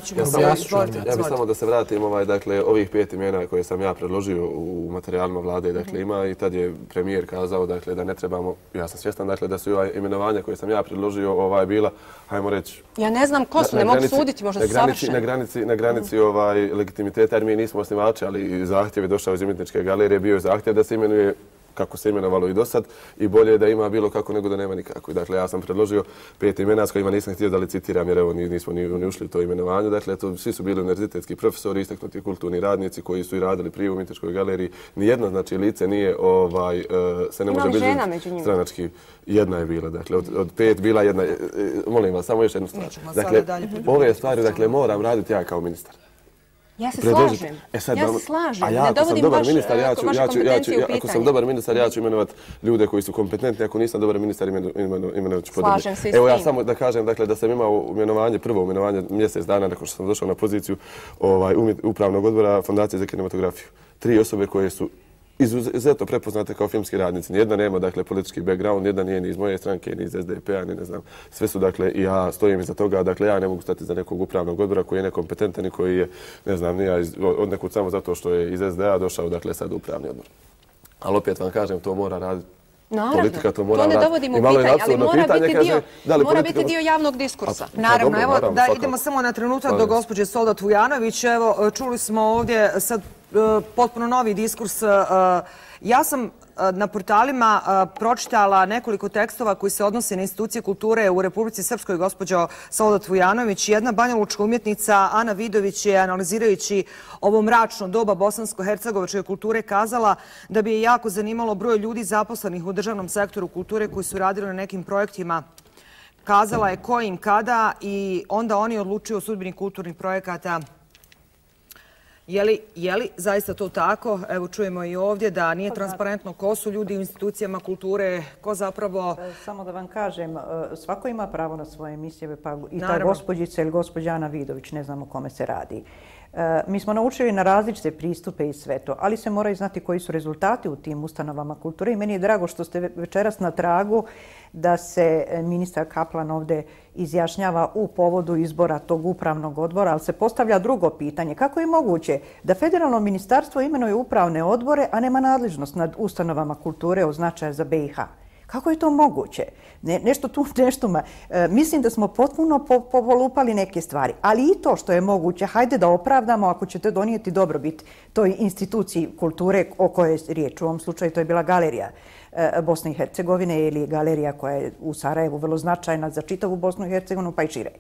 bih samo da se vratim, dakle, ovih 5 imena koje sam ja predložio u materijalima vlade, dakle, ima i tad je premijer kazao, dakle, da ne trebamo, ja sam svjestan, dakle, da su imenovanja koje sam ja predložio bila, hajmo reći... Ja ne znam ko su, ne mogu suditi, možda su savršeni. Na granici legitimiteta, jer mi nismo osnivači, ali zahtjev je došao iz Umjetničke galerije, bio je zahtjev da se imenuje kako se imenovalo i do sad i bolje je da ima bilo kako nego da nema nikako. Dakle, ja sam predložio 5 imena s kojima nisam htio da licitiram jer evo nismo ni ušli u to imenovanje. Dakle, svi su bili univerzitetski profesori, istaknuti kulturni radnici koji su i radili prije u Umjetničkoj galeriji. Nijedno, znači, lice nije se ne može biti stranački. Jedna je bila, dakle, od 5 bila jedna. Molim vas, samo još jednu stvar. Dakle, ove stvari, dakle, moram raditi ja kao ministar. Ja se slažem. Ne dovodim vaše kompetencije u pitanje. Ako sam dobar ministar, ja ću imenovati ljude koji su kompetentni. Ako nisam dobar ministar, imenovat ću podobne. Slažem se i s tim. Evo ja samo da kažem da sam imao prvo imenovanje mjesec dana nakon što sam došao na poziciju upravnog odbora Fondacije za kinematografiju. 3 osobe koje su izuzetno prepoznate kao filmski radnici. Nijedna nema, dakle, politički background, nijedna nije ni iz moje stranke, ni iz SDP-a, ni ne znam. Sve su, dakle, i ja stojim iza toga, dakle, ja ne mogu stati za nekog upravnog odbora koji je nekompetentan i koji je, ne znam, nije od nekud samo zato što je iz SDA došao, dakle, sad u upravni odbor. Ali opet vam kažem, to mora raditi. Politika to mora raditi. To ne dovodimo u pitanje, ali mora biti dio javnog diskursa. Naravno, evo da idemo samo na trenutak do gospođe Soldat Vujanović. Evo, čuli smo ovdje sad potpuno novi diskurs. Ja sam na portalima pročitala nekoliko tekstova koji se odnose na institucije kulture u Republici Srpskoj, gospođo Soldat Vujanović. Jedna banjalučka umjetnica, Ana Vidović, je analizirajući ovo mračno doba bosansko-hercegovačke kulture kazala da bi je jako zanimalo broj ljudi zaposlenih u državnom sektoru kulture koji su radili na nekim projektima. Kazala je kojim, kada i onda oni odlučuju o sudbini kulturnih projekata. Je li zaista to tako? Evo čujemo i ovdje da nije transparentno ko su ljudi u institucijama kulture, ko zapravo... Samo da vam kažem, svako ima pravo na svoje emisije, pa i ta gospođica ili gospođa Ana Vidović, ne znam o kome se radi. Mi smo naučili na različite pristupe i sve to, ali se moraju znati koji su rezultati u tim ustanovama kulture i meni je drago što ste večeras na tragu da se ministar Kaplan ovdje izjašnjava u povodu izbora tog upravnog odbora, ali se postavlja drugo pitanje. Kako je moguće da federalno ministarstvo imenuje upravne odbore, a nema nadležnost nad ustanovama kulture od značaja za BiH? Kako je to moguće? Mislim da smo potpuno povolupali neke stvari, ali i to što je moguće, hajde da opravdamo ako ćete donijeti dobrobit toj instituciji kulture o kojoj je riječ. U ovom slučaju to je bila galerija Bosne i Hercegovine ili galerija koja je u Sarajevu vrlo značajna za čitavu Bosnu i Hercegovinu pa i šire.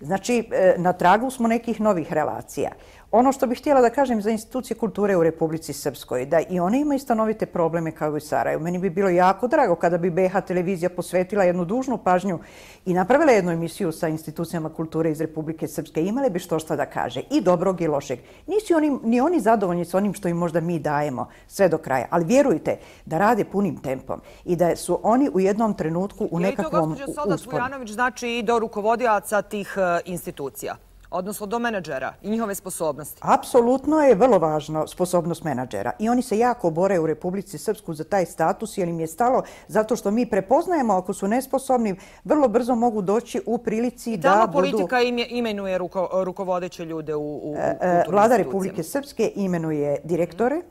Znači, na tragu smo nekih novih relacija. Ono što bih htjela da kažem za institucije kulture u Republici Srpskoj, da i one imaju stanovite probleme kao i u Sarajevu. Meni bi bilo jako drago kada bi BiH televizija posvetila jednu dužnu pažnju i napravila jednu emisiju sa institucijama kulture iz Republike Srpske. Imale bi što da kaže, i dobrog i lošeg. Nisu ni oni zadovoljni s onim što im možda mi dajemo sve do kraja, ali vjerujte da rade punim tempom i da su oni u jednom trenutku u nekakvom usponu. Je li to, gospođo Soldat Vujanović, znači i do rukovodioca tih institucija? Odnosno do menadžera i njihove sposobnosti? Apsolutno je vrlo važno sposobnost menadžera i oni se jako bore u Republici Srpsku za taj status jer im je stalo zato što mi prepoznajemo ako su nesposobni, vrlo brzo mogu doći u prilici da budu... Tamo politika imenuje rukovodeće ljude u kulturnim institucijama. Vlada Republike Srpske imenuje direktore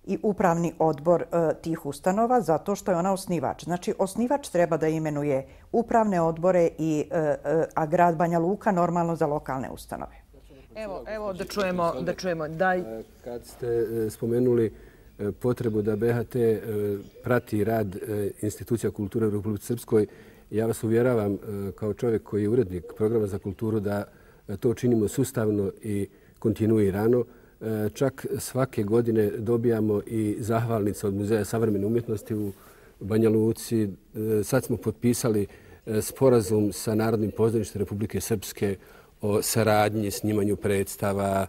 i upravni odbor tih ustanova zato što je ona osnivač. Znači, osnivač treba da imenuje upravne odbore, a grad Banja Luka normalno za lokalne ustanove. Evo da čujemo. Kad ste spomenuli potrebu da BHT prati rad institucija kulture u Republici Srpskoj, ja vas uvjeravam kao čovjek koji je urednik programa za kulturu da to činimo sustavno i kontinuirano. Čak svake godine dobijamo i zahvalnice od Muzeja savremene umjetnosti u Banja Luci. Sad smo potpisali sporazum sa Narodnim pozorištem Republike Srpske o saradnji, snimanju predstava,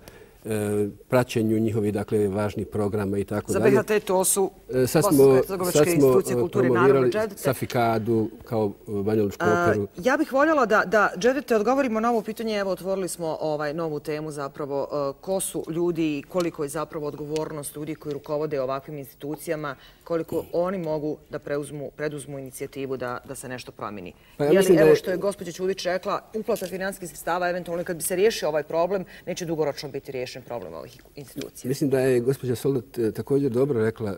praćenju njihovih važnih programa i tako dalje. Za BHT to su bosansko-hercegovačke institucije kulture, naravno Džedete. Safikadu kao Banja Lučku operu. Ja bih voljela da Džedete odgovorimo na ovo pitanje. Evo, otvorili smo novu temu zapravo. Ko su ljudi i koliko je zapravo odgovornost ljudi koji rukovode ovakvim institucijama, koliko oni mogu da preduzmu inicijativu da se nešto promijeni. Evo što je gospođa Ćulić rekla, uplata finansijskih sredstava, eventualno kad bi se riješio ovaj problem, neće dugoročno biti riješen problem ovih institucija. Mislim da je gospođa Soldat također dobro rekla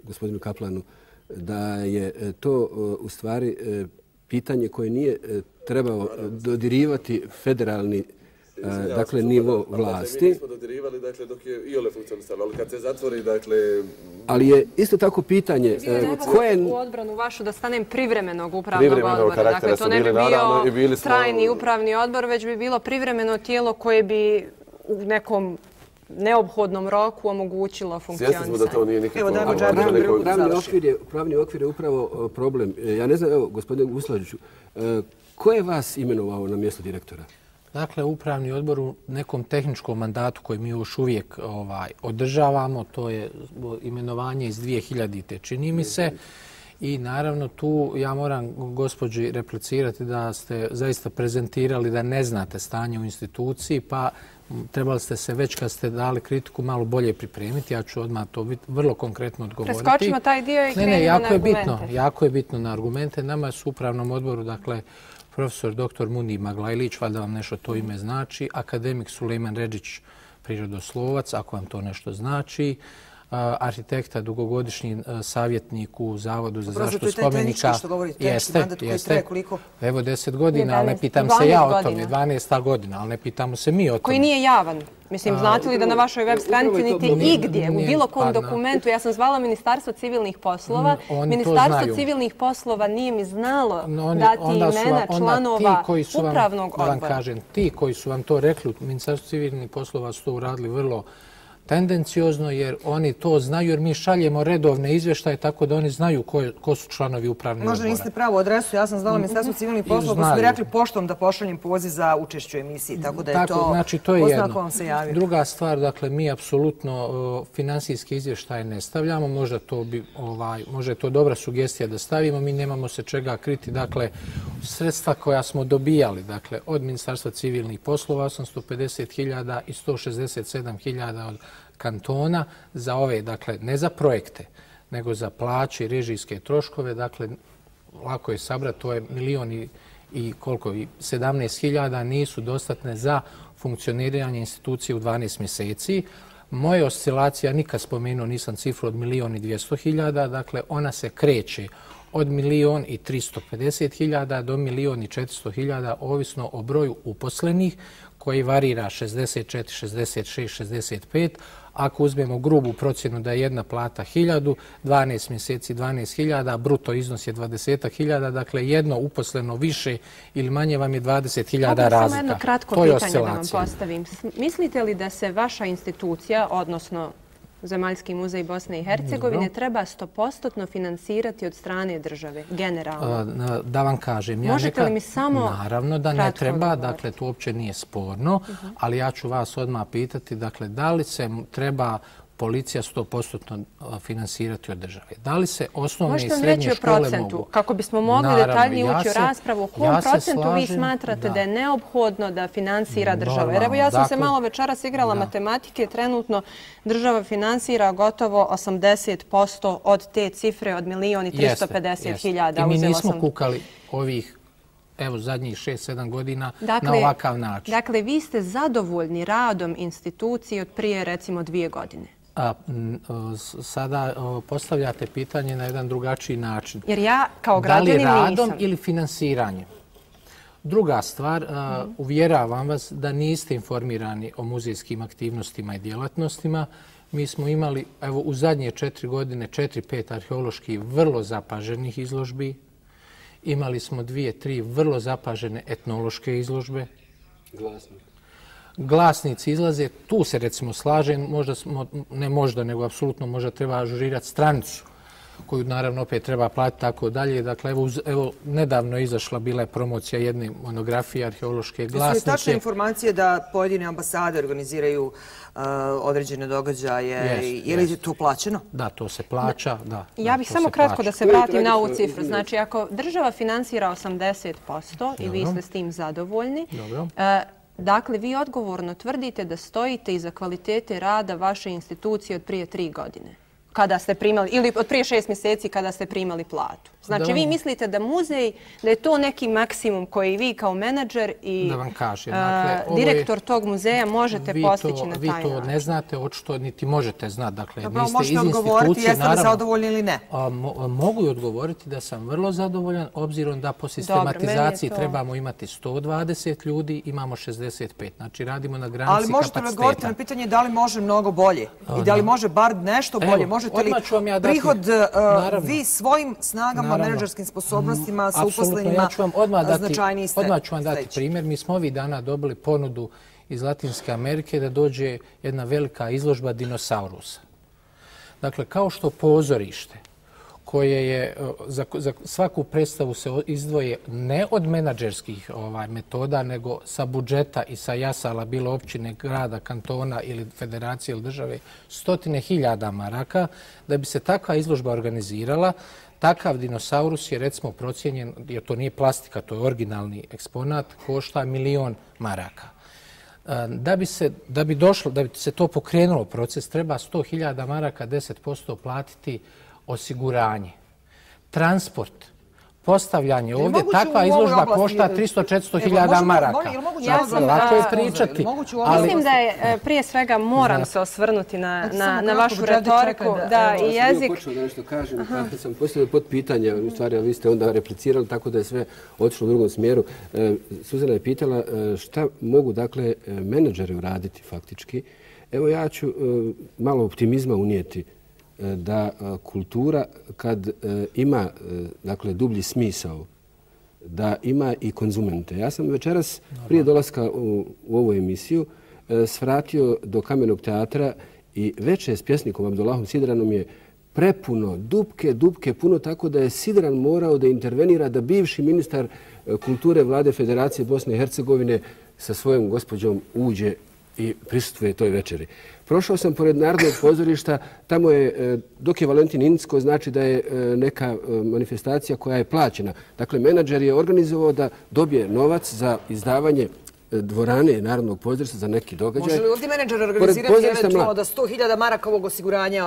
gospodinu Kaplanu da je to u stvari pitanje koje nije trebao dodirivati federalni nivo vlasti. Mi nismo dodirivali dok je iole funkcionisalo, ali kad se zatvori Ali je isto tako pitanje koje... U odbranu vašu da stanem privremenog upravnog odbora. Dakle, to ne bi bio trajni upravni odbor, već bi bilo privremeno tijelo koje bi u nekom neophodnom roku omogućilo funkcionisanje. Svjesni smo da to nije nikako... Pravni okvir je upravo problem. Ja ne znam, evo, gospodine Guslađiću, ko je vas imenovao na mjesto direktora? Dakle, upravni odbor u nekom tehničkom mandatu koji mi još uvijek održavamo, to je imenovanje iz 2000. čini mi se. I naravno tu ja moram gospođi replicirati da ste zaista prezentirali da ne znate stanje u instituciji, pa trebali ste se već kad ste dali kritiku malo bolje pripremiti. Ja ću odmah to vrlo konkretno odgovoriti. Preskočimo taj dio i krenimo na argumente. Jako je bitno na argumente. Nama su u upravnom odboru, dakle, profesor dr. Munir Maglajlić, valjda vam nešto to ime znači, akademik Sulejman Redžić, prirodoslovac, ako vam to nešto znači, arhitekta, dugogodišnji savjetnik u Zavodu za zaštitu spomenika. Jeste. Evo 10 godina, ali ne pitam se ja o tome. 12. godina, ali ne pitamo se mi o tome. Koji nije javan. Mislim, znate li da na vašoj web stranici niti igdje, u bilo kom dokumentu, ja sam zvala Ministarstvo civilnih poslova, Ministarstvo civilnih poslova nije mi znalo dati imena članova upravnog odbora. Da vam kažem, ti koji su vam to rekli, Ministarstvo civilnih poslova su to uradili vrlo tendenciozno, jer oni to znaju, jer mi šaljemo redovne izvještaje, tako da oni znaju ko su članovi upravnog odbora. Možda niste pravu adresu, ja sam zvala Ministarstvo civilnih poslova, pa su mi rekli poštom da pošaljem poziv za učešću u emisiji, tako da je to oznako vam se javio. Druga stvar, dakle, mi apsolutno finansijske izvještaje ne stavljamo, možda je to dobra sugestija da stavimo, mi nemamo se čega kriti, dakle, sredstva koja smo dobijali, dakle, od Ministarstva civilnih poslova 850.000 i 167.000 od kantona za ove, dakle, ne za projekte, nego za plaće i režijske troškove, dakle, lako je sabrati, to je 17.000 nisu dostatne za funkcioniranje institucije u 12 mjeseci. Moje oscilacija, nikad spomenuo nisam cifru od 1.200.000, dakle, ona se kreće od 1.350.000 do 1.400.000, ovisno o broju uposlenih, koji varira 64, 66, 65. Ako uzmemo grubu procjenu da je jedna plata 1.000, 12 mjeseci 12.000, bruto iznos je 20.000, dakle jedno uposleno više ili manje vam je 20.000 razlika. Samo jedno kratko pitanje da vam postavim. Mislite li da se vaša institucija, odnosno Zemaljski muzej Bosne i Hercegovine, treba 100% finansirati od strane države, generalno? Da vam kažem. Možete li mi samo naravno da ne treba, dakle to uopće nije sporno, ali ja ću vas odmah pitati, dakle, da li se treba policija 100% finansirati od države? Da li se osnovne i srednje škole mogu? Kako bismo mogli detaljnije ući u raspravu, u kom procentu vi smatrate da je neophodno da finansira država? Jer evo ja sam se malo večeras igrala matematike, trenutno država finansira gotovo 80% od te cifre od 1.350.000. I mi nismo kukali ovih zadnjih 6-7 godina na ovakav način. Dakle, vi ste zadovoljni radom institucije od prije, recimo, 2 godine? Sada postavljate pitanje na jedan drugačiji način. Jer ja kao građanin nisam. Da li radom ili finansiranjem? Druga stvar, uvjeravam vas da niste informirani o muzejskim aktivnostima i djelatnostima. Mi smo imali, evo, u zadnje 4 godine 4-5 arheoloških vrlo zapaženih izložbi. Imali smo 2-3 vrlo zapažene etnološke izložbe. Glasnici izlaze, tu se recimo slažem, nego apsolutno možda treba ažurirati stranicu koju naravno opet treba platiti tako dalje. Dakle, evo, nedavno je izašla, bila je promocija jedne monografije arheološke glasnike. Jesu li tačne informacije da pojedine ambasade organiziraju određene događaje? Je li to plaćeno? Da, to se plaća, da. Ja bih samo kratko da se vratim na ovu cifru. Znači, ako država finansira 80% i vi ste s tim zadovoljni, dakle, vi odgovorno tvrdite da stojite iza kvalitete rada vaše institucije od prije 3 godine. Kada ste primali, ili od prije 6 mjeseci kada ste primali platu. Znači, vi mislite da muzej, da je to neki maksimum koji vi kao menadžer i direktor tog muzeja možete postići na taj način? Vi to ne znate, očito niti možete znati. Dakle, možete odgovoriti jeste li zadovoljni ili ne? Mogu i odgovoriti da sam vrlo zadovoljan, obzirom da po sistematizaciji trebamo imati 120 ljudi, imamo 65. Znači, radimo na granici kapaciteta. Ali možete li odgovoriti na pitanje da li može mnogo bolje? I da li može bar nešto bolje? Može možete li prihod vi svojim snagama, menadžerskim sposobnostima sa uposlenima značajniji ste? Odmah ću vam dati primjer. Mi smo ovih dana dobili ponudu iz Latinske Amerike da dođe jedna velika izložba dinosaurusa. Dakle, kao što pozorište koje je za svaku predstavu se izdvoje ne od menadžerskih metoda, nego sa budžeta i sa jasala, bilo općine, grada, kantona ili federacije ili države, 100.000 maraka, da bi se takva izložba organizirala. Takav dinosaurus je recimo procijenjen, jer to nije plastika, to je originalni eksponat, košta 1.000.000 maraka. Da bi se to pokrenulo proces, treba 100.000 maraka, 10% platiti osiguranje, transport, postavljanje ovdje. Takva izložba košta 300-400.000 maraka. Lako je pričati. Mislim da je prije svega moram se osvrnuti na vašu retoriku. Da, i jezik... Počeo da nešto kažem, kad sam postavio pod pitanje, u stvari vi ste onda replicirali, tako da je sve otišlo u drugom smjeru. Suzana je pitala šta mogu, dakle, menadžeri uraditi faktički. Evo ja ću malo optimizma unijeti da kultura kad ima dakle dublji smisao, da ima i konzumente. Ja sam večeras prije dolaska u ovu emisiju svratio do Kamenog teatra i večer s pjesnikom Abdullahom Sidranom je prepuno, dupke puno, tako da je Sidran morao da intervenira da bivši ministar kulture Vlade Federacije Bosne i Hercegovine sa svojom gospođom uđe i prisustvuje toj večeri. Prošao sam pored Narodnog pozorišta, tamo je, dok je Valentin Incko, znači da je neka manifestacija koja je plaćena. Dakle, menadžer je organizovao da dobije novac za izdavanje dvorane Narodnog pozorišta za neki događaj. Može li ovdje menadžer organizirati eventualno da 100.000 maraka ovog osiguranja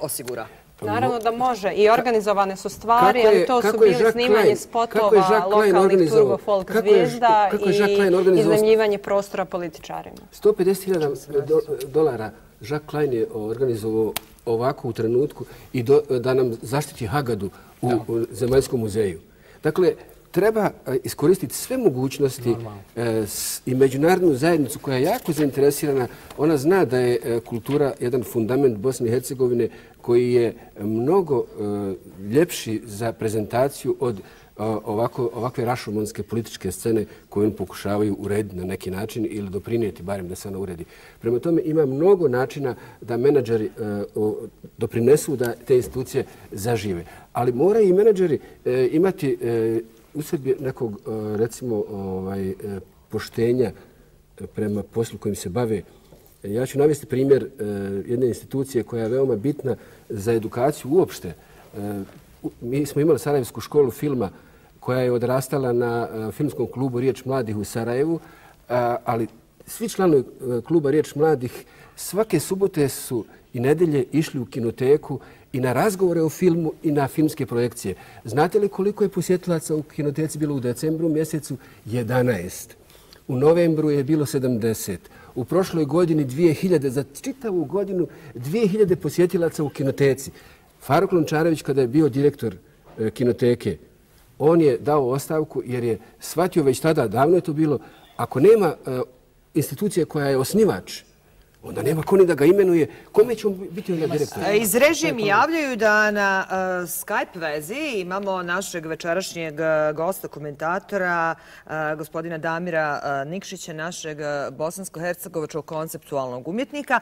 osigura? Naravno da može. I organizovane su stvari, ali to su bili snimanje spotova lokalnih turbo folk zvijezda i iznajmljivanje prostora političarima. $150.000 Jacques Klein je organizovao ovako u trenutku i da nam zaštiti Hagadu u Zemaljskom muzeju. Dakle, treba iskoristiti sve mogućnosti i međunarodnu zajednicu koja je jako zainteresirana. Ona zna da je kultura jedan fundament Bosne i Hercegovine koji je mnogo ljepši za prezentaciju od ovakve rašomonske političke scene koje oni pokušavaju urediti na neki način ili doprinijeti barem da se ona uredi. Prema tome ima mnogo načina da menadžeri doprinesu da te institucije zažive. Ali moraju i menadžeri imati u sebi nekog, recimo, poštenja prema poslu kojim se bave. Ja ću navesti primjer jedne institucije koja je veoma bitna za edukaciju uopšte. Mi smo imali Sarajevsku školu filma koja je odrastala na filmskom klubu Riječ mladih u Sarajevu, ali svi članovi kluba Riječ mladih svake subote su i nedelje išli u kinoteku i na razgovore o filmu i na filmske projekcije. Znate li koliko je posjetilaca u kinoteci bilo u decembru mjesecu? 11. U novembru je bilo 70. U prošloj godini 2000, za čitavu godinu 2000 posjetilaca u kinoteci. Faruk Lončarević, kada je bio direktor kinoteke, on je dao ostavku jer je shvatio već tada, davno je to bilo, ako nema institucije koja je osnivač, onda nema ko ni da ga imenuje. Kome će on biti onda direktor? Iz režije mi javljaju da na Skype vezi imamo našeg večerašnjeg gosta, komentatora, gospodina Damira Nikšića, našeg bosansko-hercegovačkog konceptualnog umjetnika.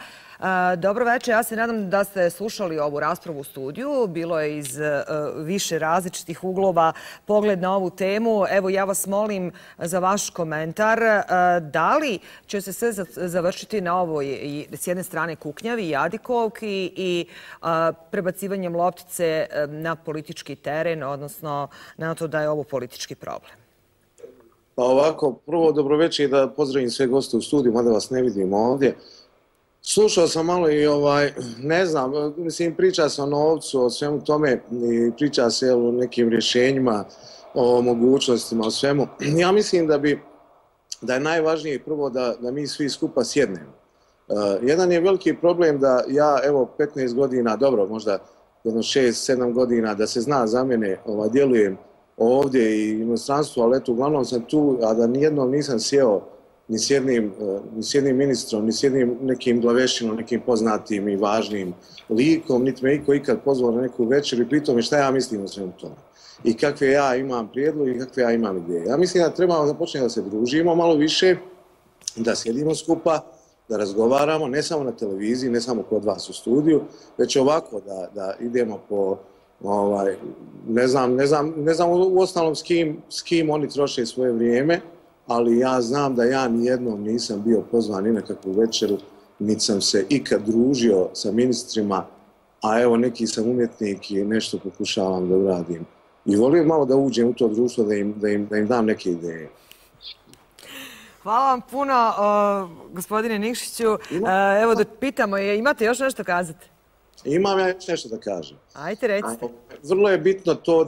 Dobro večer, ja se nadam da ste slušali ovu raspravu u studiju. Bilo je iz više različitih uglova pogled na ovu temu. Evo, ja vas molim za vaš komentar. Da li će se sve završiti na ovoj s jedne strane kuknjavi i jadikovki i prebacivanjem loptice na politički teren, odnosno na to da je ovo politički problem? Pa ovako, prvo dobroveče i da pozdravim sve goste u studiju, mada vas ne vidim ovdje. Slušao sam malo i ne znam, mislim, priča se o novcu, o svemu tome i priča se o nekim rješenjima, o mogućnostima, o svemu. Ja mislim da je najvažnije prvo da mi svi skupa sjednemo. Jedan je veliki problem da ja, evo, 15 godina, dobro, možda jedno 6-7 godina, da se zna za mene, djelujem ovdje i inostranstvu, ali eto, uglavnom sam tu, a da nijednom nisam sjeo ni s jednim ministrom, ni s jednim nekim glavešinom, nekim poznatim i važnim likom, niti me iko ikad pozvao na neku večer i pitao mi šta ja mislim o svemu tome. I kakve ja imam prijedloge i kakve ja imam ideje. Ja mislim da trebamo započeti da se družimo malo više, da sjedimo skupa, da razgovaramo, ne samo na televiziji, ne samo kod vas u studiju, već ovako da idemo po, ne znam u ostalom s kim oni troše svoje vrijeme, ali ja znam da ja nijednom nisam bio pozvan ni na kakvu večeru, niti sam se ikad družio sa ministrima, a evo neki sam umjetnik i nešto pokušavam da uradim. I volim malo da uđem u to društvo, da im dam neke ideje. Hvala vam puno, gospodine Nikšiću. Evo da pitamo, imate još nešto kazati? Imam ja još nešto da kažem. Ajde, recite. Vrlo je bitno to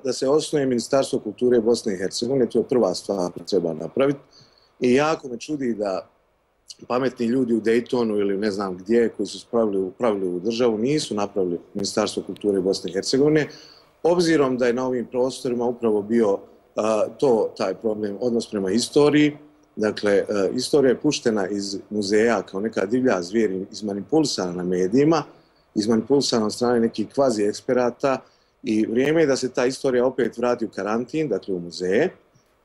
da se osnuje Ministarstvo kulture Bosne i Hercegovine, to je prva stvar koju treba napraviti. I jako me čudi da pametni ljudi u Daytonu ili ne znam gdje, koji su upravili u državu, nisu napravili Ministarstvo kulture Bosne i Hercegovine, obzirom da je na ovim prostorima upravo bio taj problem, odnos prema istoriji. Dakle, istorija je puštena iz muzeja kao neka divlja zvijer, izmanipulisana na medijima, izmanipulisana od strane nekih kvazi eksperata i vrijeme je da se ta istorija opet vrati u karantin, dakle u muzeje,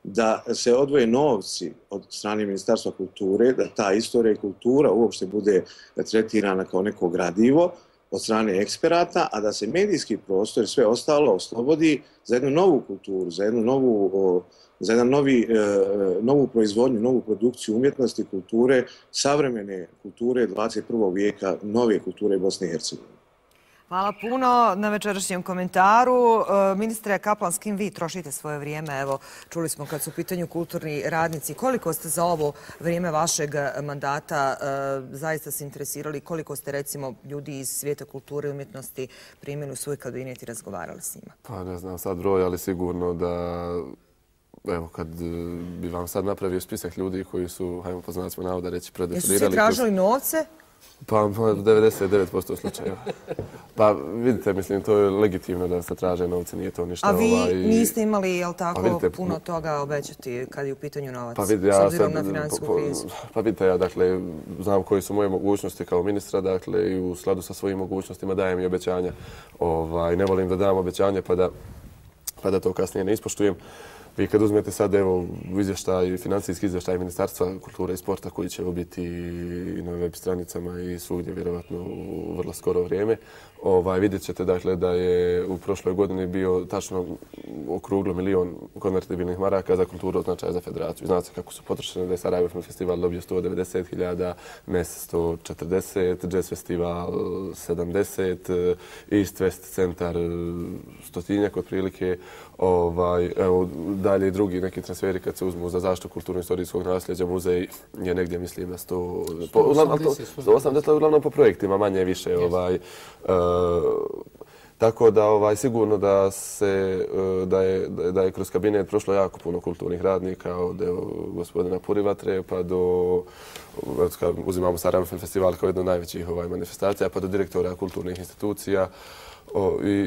da se odvoje novci od strane Ministarstva kulture, da ta istorija i kultura uopšte bude tretirana kao neko gradivo od strane eksperata, a da se medijski prostor i sve ostalo oslobodi za jednu novu kulturu, za jednu novu proizvodnju, novu produkciju umjetnosti, kulture, savremene kulture 21. vijeka, nove kulture Bosne i Hercegovine. Hvala puno na večerašnjem komentaru. Ministre Kaplan, s kim vi trošite svoje vrijeme? Evo, čuli smo kad su u pitanju kulturni radnici. Koliko ste za ovo vrijeme vašeg mandata zaista se interesirali? Koliko ste, recimo, ljudi iz svijeta kulture i umjetnosti primili u svoj kabinet i razgovarali s njima? Pa ne znam sad broj, ali sigurno da... Evo, kad bi vam sad napravio spisak ljudi koji su, hajmo po znacima navoda reći, predefilirali... Jesu svi tražili novce? Pa 99% slučajeva. Pa vidite, mislim, to je legitimno da se traže novce, nije to ništa... A vi niste imali, jel tako, puno toga obećati kad je u pitanju novac, s obzirom na financijsku krizu? Pa vidite, ja dakle, znam koje su moje mogućnosti kao ministra, dakle, i u skladu sa svojim mogućnostima dajem i obećanja. Ne volim da dam obećanje pa da to kasnije ne ispoštujem. Vi kad uzmete sad, evo, financijski izvještaj Ministarstva kulture i sporta koji će biti i na web stranicama i svugdje vjerovatno u vrlo skoro vrijeme, vidjet ćete dakle da je u prošloj godini bio tačno okruglo 1 milion konvertibilnih maraka za kulturu od značaja za federaciju. Znate kako su potrošene, da je Sarajevo Film Festival dobio 190.000, MES 140, Jazz Festival 70, East West centar 100-tinjak otprilike. Evo, dalje i drugi neki transferi kad se uzmu za zaštitu kulturno-istorijskog nasljeđa, muzej je negdje, mislim, na 180, uglavnom po projektima, manje više. Tako da sigurno da je kroz kabinet prošlo jako puno kulturnih radnika, od gospodina Purivatre pa do, uzimamo Sarajevo Film Festival kao jednu od najvećih manifestacija, pa do direktora kulturnih institucija.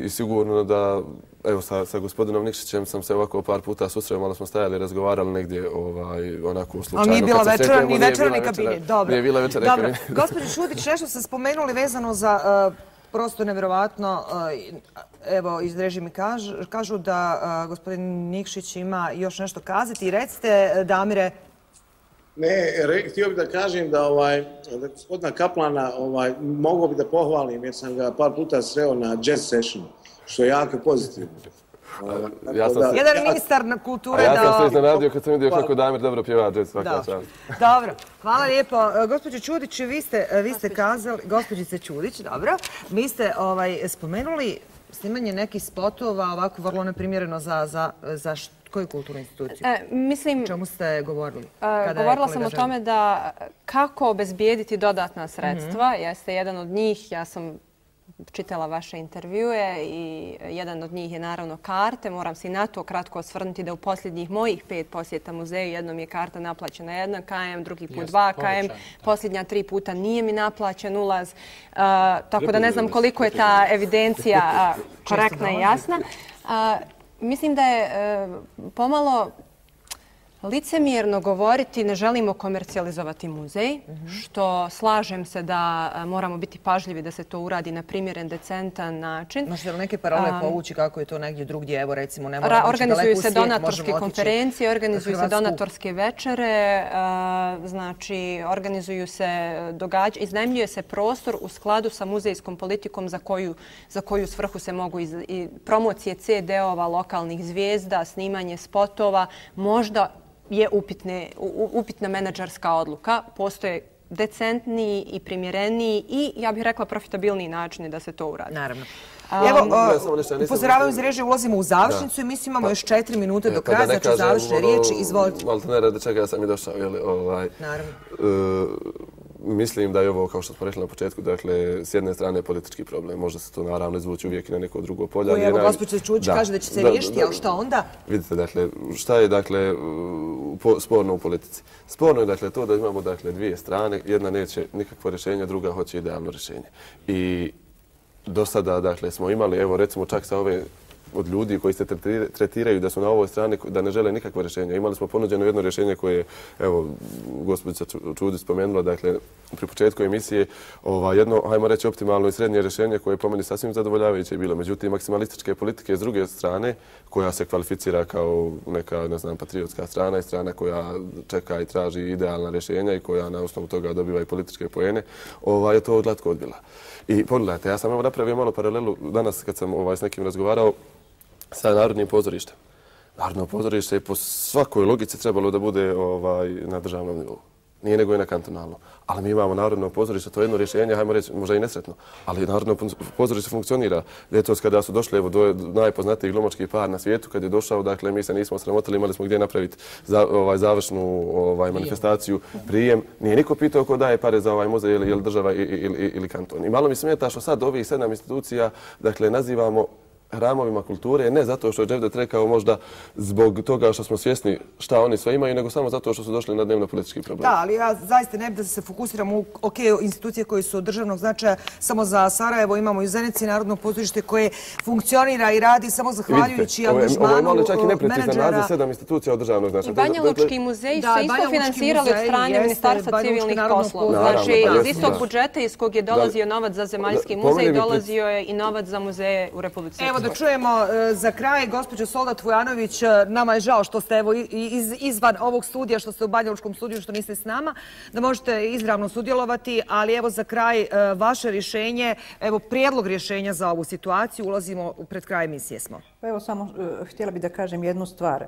I sigurno da, evo, sa gospodinom Nikšićem sam se ovako par puta susreo, malo smo stajali i razgovarali negdje onako slučajno. Ali nije bila večera ni večerni kabinet. Dobro. Nije bila večerni kabinet. Gospođo Šudić, nešto ste spomenuli vezano za prosto nevjerovatno, evo iz režije mi kažu da gospodin Nikšić ima još nešto kazati. Recite, Damire. Ne, htio bih da kažem da gospodina Kaplana mogao bih da pohvalim jer sam ga par puta sreo na jazz sessionu, što je jako pozitivno. Jedan ministar na kulture da... A ja sam se iznenadio kad sam vidio kako Damir dobro pjeva jazz, svaka čast. Dobro, hvala lijepo. Gospođo Čudić, vi ste kazali, gospođice Čudić, dobro, vi ste spomenuli snimanje nekih spotova ovako vrlo neprimjereno za koju kulturnu instituciju? Mislim... O čemu ste govorili? Govorila sam o tome da kako obezbijediti dodatna sredstva. Jeste jedan od njih, ja sam čitala vaše intervjue i jedan od njih je naravno karte. Moram se i na to kratko osvrnuti da u posljednjih mojih 5 posjeta muzeju jednom je karta naplaćena 1 km, drugi put 2 km, posljednja 3 puta nije mi naplaćen ulaz. Tako da ne znam koliko je ta evidencija korektna i jasna. Mislim da je pomalo Licemjerno govoriti ne želimo komercijalizovati muzej, što slažem se da moramo biti pažljivi da se to uradi na primjeren, decentan način. Možete li neke paralele povući kako je to negdje drugdje? Evo recimo, ne moramo ići daleko u svijet, organizuju se donatorske konferencije, organizuju se donatorske večere, znači organizuju se događanja, iznajmljuje se prostor u skladu sa muzejskom politikom za koju svrhu se mogu i promocije CD-ova, lokalnih zvijezda, snimanje spotova, možda je upitna menadžerska odluka. Postoje decentniji i primjereniji i, ja bih rekla, profitabilniji načini da se to uradi. Naravno. Evo, upozoravaju iz režije, ulazimo u završnicu i mislim imamo još 4 minute do kraja, znači završne riječi, izvolite. Malo ne radi čega sam i došao. Naravno. Mislim da je ovo, kao što smo rekli na početku, dakle, s jedne strane politički problem. Može se to naravno izvući uvijek i na neko drugo polje. Koji, evo, gospođa Čuđić kaže da će se riješiti, ali šta onda? Vidite, dakle, šta je, dakle, sporno u politici? Sporno je, dakle, to da imamo, dakle, dvije strane. Jedna neće nikakvo rješenje, druga hoće idealno rješenje. I do sada, dakle, smo imali, evo, recimo, čak sa ove od ljudi koji se tretiraju da su na ovoj strani, da ne žele nikakvo rješenje. Imali smo ponuđeno jedno rješenje koje je, evo, gospođa Čudić spomenula, dakle, pri početku emisije, jedno, hajmo reći, optimalno i srednje rješenje koje je po meni sasvim zadovoljavajuće bilo. Međutim, maksimalističke politike s druge strane, koja se kvalificira kao neka, ne znam, patriotska strana i strana koja čeka i traži idealna rješenja i koja na osnovu toga dobiva i političke poene, je to glatko odbila. I pogledajte, ja sam evo napravio malo paralelu danas kad sam s nekim razgovarao sa Narodnim pozorištem. Narodno pozorište je po svakoj logici trebalo da bude na državnom nivou. Nije nego i na kantonalnom. Ali mi imamo Narodno pozorište, to je jedno rješenje, hajmo reći, možda i nesretno, ali Narodno pozorište funkcionira. Ljetos kada su došli, evo, najpoznatiji glumački par na svijetu, kad je došao, dakle, mi se nismo sramotili, imali smo gdje napraviti završnu manifestaciju, prijem. Nije niko pitao ko daje pare za ovaj muzej, ili država ili kanton. I malo mi smeta što sad ovih 7 institucija, dakle, nazivamo hramovima kulture, ne zato što je Dževdet rekao možda zbog toga što smo svjesni šta oni sve imaju, nego samo zato što su došli na dnevno-politički problem. Da, ali ja zaista ne bih da se fokusiram u institucije koje su od državnog značaja samo za Sarajevo. Imamo i u Zenici Narodno pozorište koje funkcionira i radi samo zahvaljujući angažmanu menadžera. Ovo je malo čak i neprecizan naziv 7 institucija od državnog značaja. I Banjalučki muzeji su isto finansirali od strane Ministarstva civilnih poslova. Znači, iz istog budžeta iz kog je dolazio novac za Zemaljski muzej, dolazio je i novac za muzeje u Republici Srpskoj. Da čujemo za kraj, gospođo Soldat Vujanović, nama je žao što ste evo izvan ovog studija, što ste u Banjalučkom studiju, što niste s nama, da možete izravno sudjelovati, ali evo za kraj vaše rješenje, evo prijedlog rješenja za ovu situaciju, ulazimo pred kraj emisije smo. Pa evo samo htjela bih da kažem jednu stvar.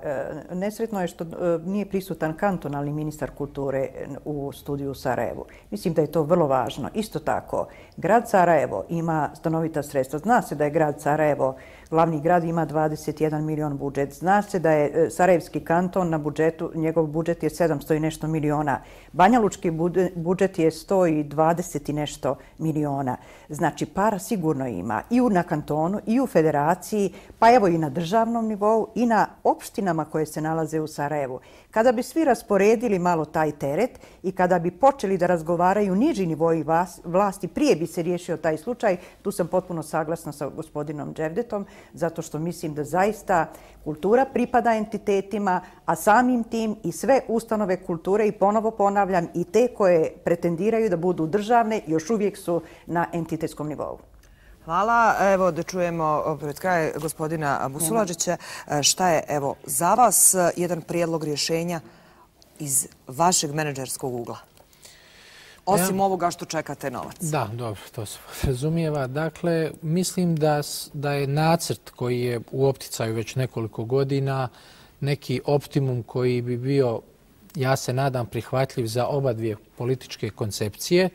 Nesretno je što nije prisutan kantonalni ministar kulture u studiju u Sarajevu. Mislim da je to vrlo važno. Isto tako, grad Sarajevo ima stanovita sredstva. Zna se da je grad Sarajevo glavni grad, ima 21 milion budžet. Zna se da je Sarajevski kanton na budžetu, njegov budžet je 700 i nešto miliona. Banjalučki budžet je 120 i nešto miliona. Znači, para sigurno ima i na kantonu, i u federaciji, pa evo i na državnom nivou, i na opštinama koje se nalaze u Sarajevu. Kada bi svi rasporedili malo taj teret i kada bi počeli da razgovaraju niži nivoji vlasti, prije bi se riješio taj slučaj. Tu sam potpuno saglasna sa gospodinom Dževdetom, zato što mislim da zaista kultura pripada entitetima, a samim tim i sve ustanove kulture, i ponovo ponavljam, i te koje pretendiraju da budu državne, još uvijek su na entitetskom nivou. Hvala. Evo da čujemo pred kraj gospodina Busulađića. Šta je evo za vas jedan prijedlog rješenja iz vašeg menadžerskog ugla? Osim ovoga što čekate novac. Da, dobro, to se razumijeva. Dakle, mislim da je nacrt koji je u opticaju već nekoliko godina neki optimum koji bi bio, ja se nadam, prihvatljiv za oba dvije političke koncepcije.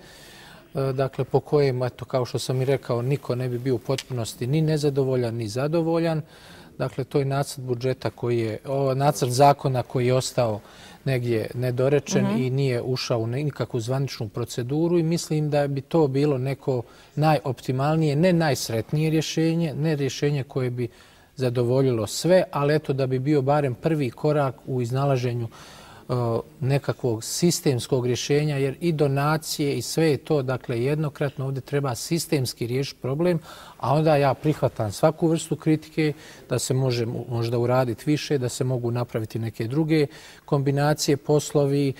Dakle, po kojem, eto, kao što sam i rekao, niko ne bi bio u potpunosti ni nezadovoljan, ni zadovoljan. Dakle, to je nacrt budžeta koji je, nacrt zakona koji je ostao negdje nedorečen i nije ušao u nikakvu zvaničnu proceduru i mislim da bi to bilo neko najoptimalnije, ne najsretnije rješenje, ne rješenje koje bi zadovoljilo sve, ali eto da bi bio barem prvi korak u iznalaženju nekakvog sistemskog rješenja, jer i donacije i sve je to, dakle, jednokratno ovdje treba sistemski riješiti problem, A onda ja prihvatam svaku vrstu kritike, da se može možda uraditi više, da se mogu napraviti neke druge kombinacije, poslovi,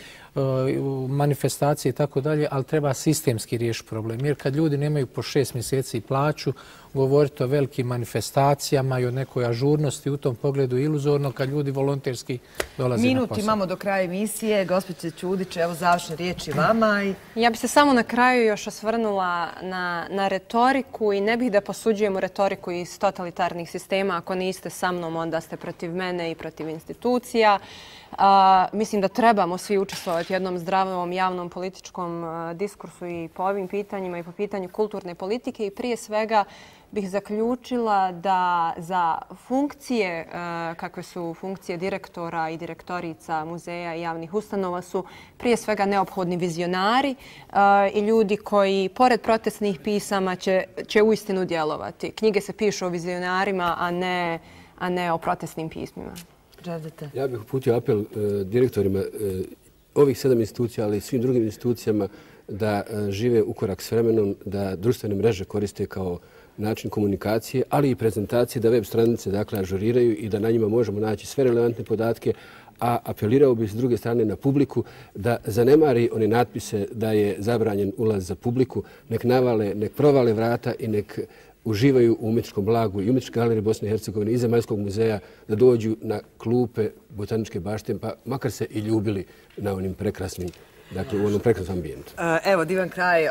manifestacije i tako dalje, ali treba sistemski riješiti problem. Jer kad ljudi nemaju po 6 mjeseci plaću, govoriti o velikim manifestacijama i o nekoj ažurnosti u tom pogledu iluzorno kad ljudi volonterski dolaze na posao. Minut imamo do kraja emisije. Gospođe Ćudić, evo završne riječi vama. Ja bih se samo na kraju još osvrnula na retoriku i ne bih da posuđujemo retoriku iz totalitarnih sistema. Ako niste sa mnom, onda ste protiv mene i protiv institucija. Mislim da trebamo svi učestvovati u jednom zdravom javnom političkom diskursu i po ovim pitanjima i po pitanju kulturne politike i prije svega bih zaključila da za funkcije kakve su funkcije direktora i direktorica muzeja i javnih ustanova su prije svega neophodni vizionari i ljudi koji pored protestnih pisama će uistinu djelovati. Knjige se pišu o vizionarima, a ne o protestnim pismima. Ja bih uputio apel direktorima ovih 7 institucija, ali i svim drugim institucijama da žive u korak s vremenom, da društvene mreže koriste kao način komunikacije, ali i prezentacije, da web stranice dakle ažuriraju i da na njima možemo naći sve relevantne podatke, a apelirao bih s druge strane na publiku da zanemari one natpise da je zabranjen ulaz za publiku, nek navale, nek provale vrata i nek uživaju u umjetničkom blagu i umjetničke galerije Bosne i Hercegovine i Zemaljskog muzeja, da dođu na klupe Botaničke bašte, pa makar se i ljubili na onim prekrasnim, dakle u onom prekrasnom ambijentu. Evo, divan kraj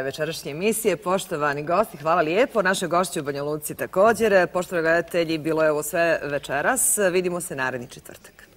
večerašnje emisije. Poštovani gosti, hvala lijepo. Naše gošće u Banja Luci također. Poštovani gledatelji, bilo je ovo sve večeras. Vidimo se naredni četvrtak.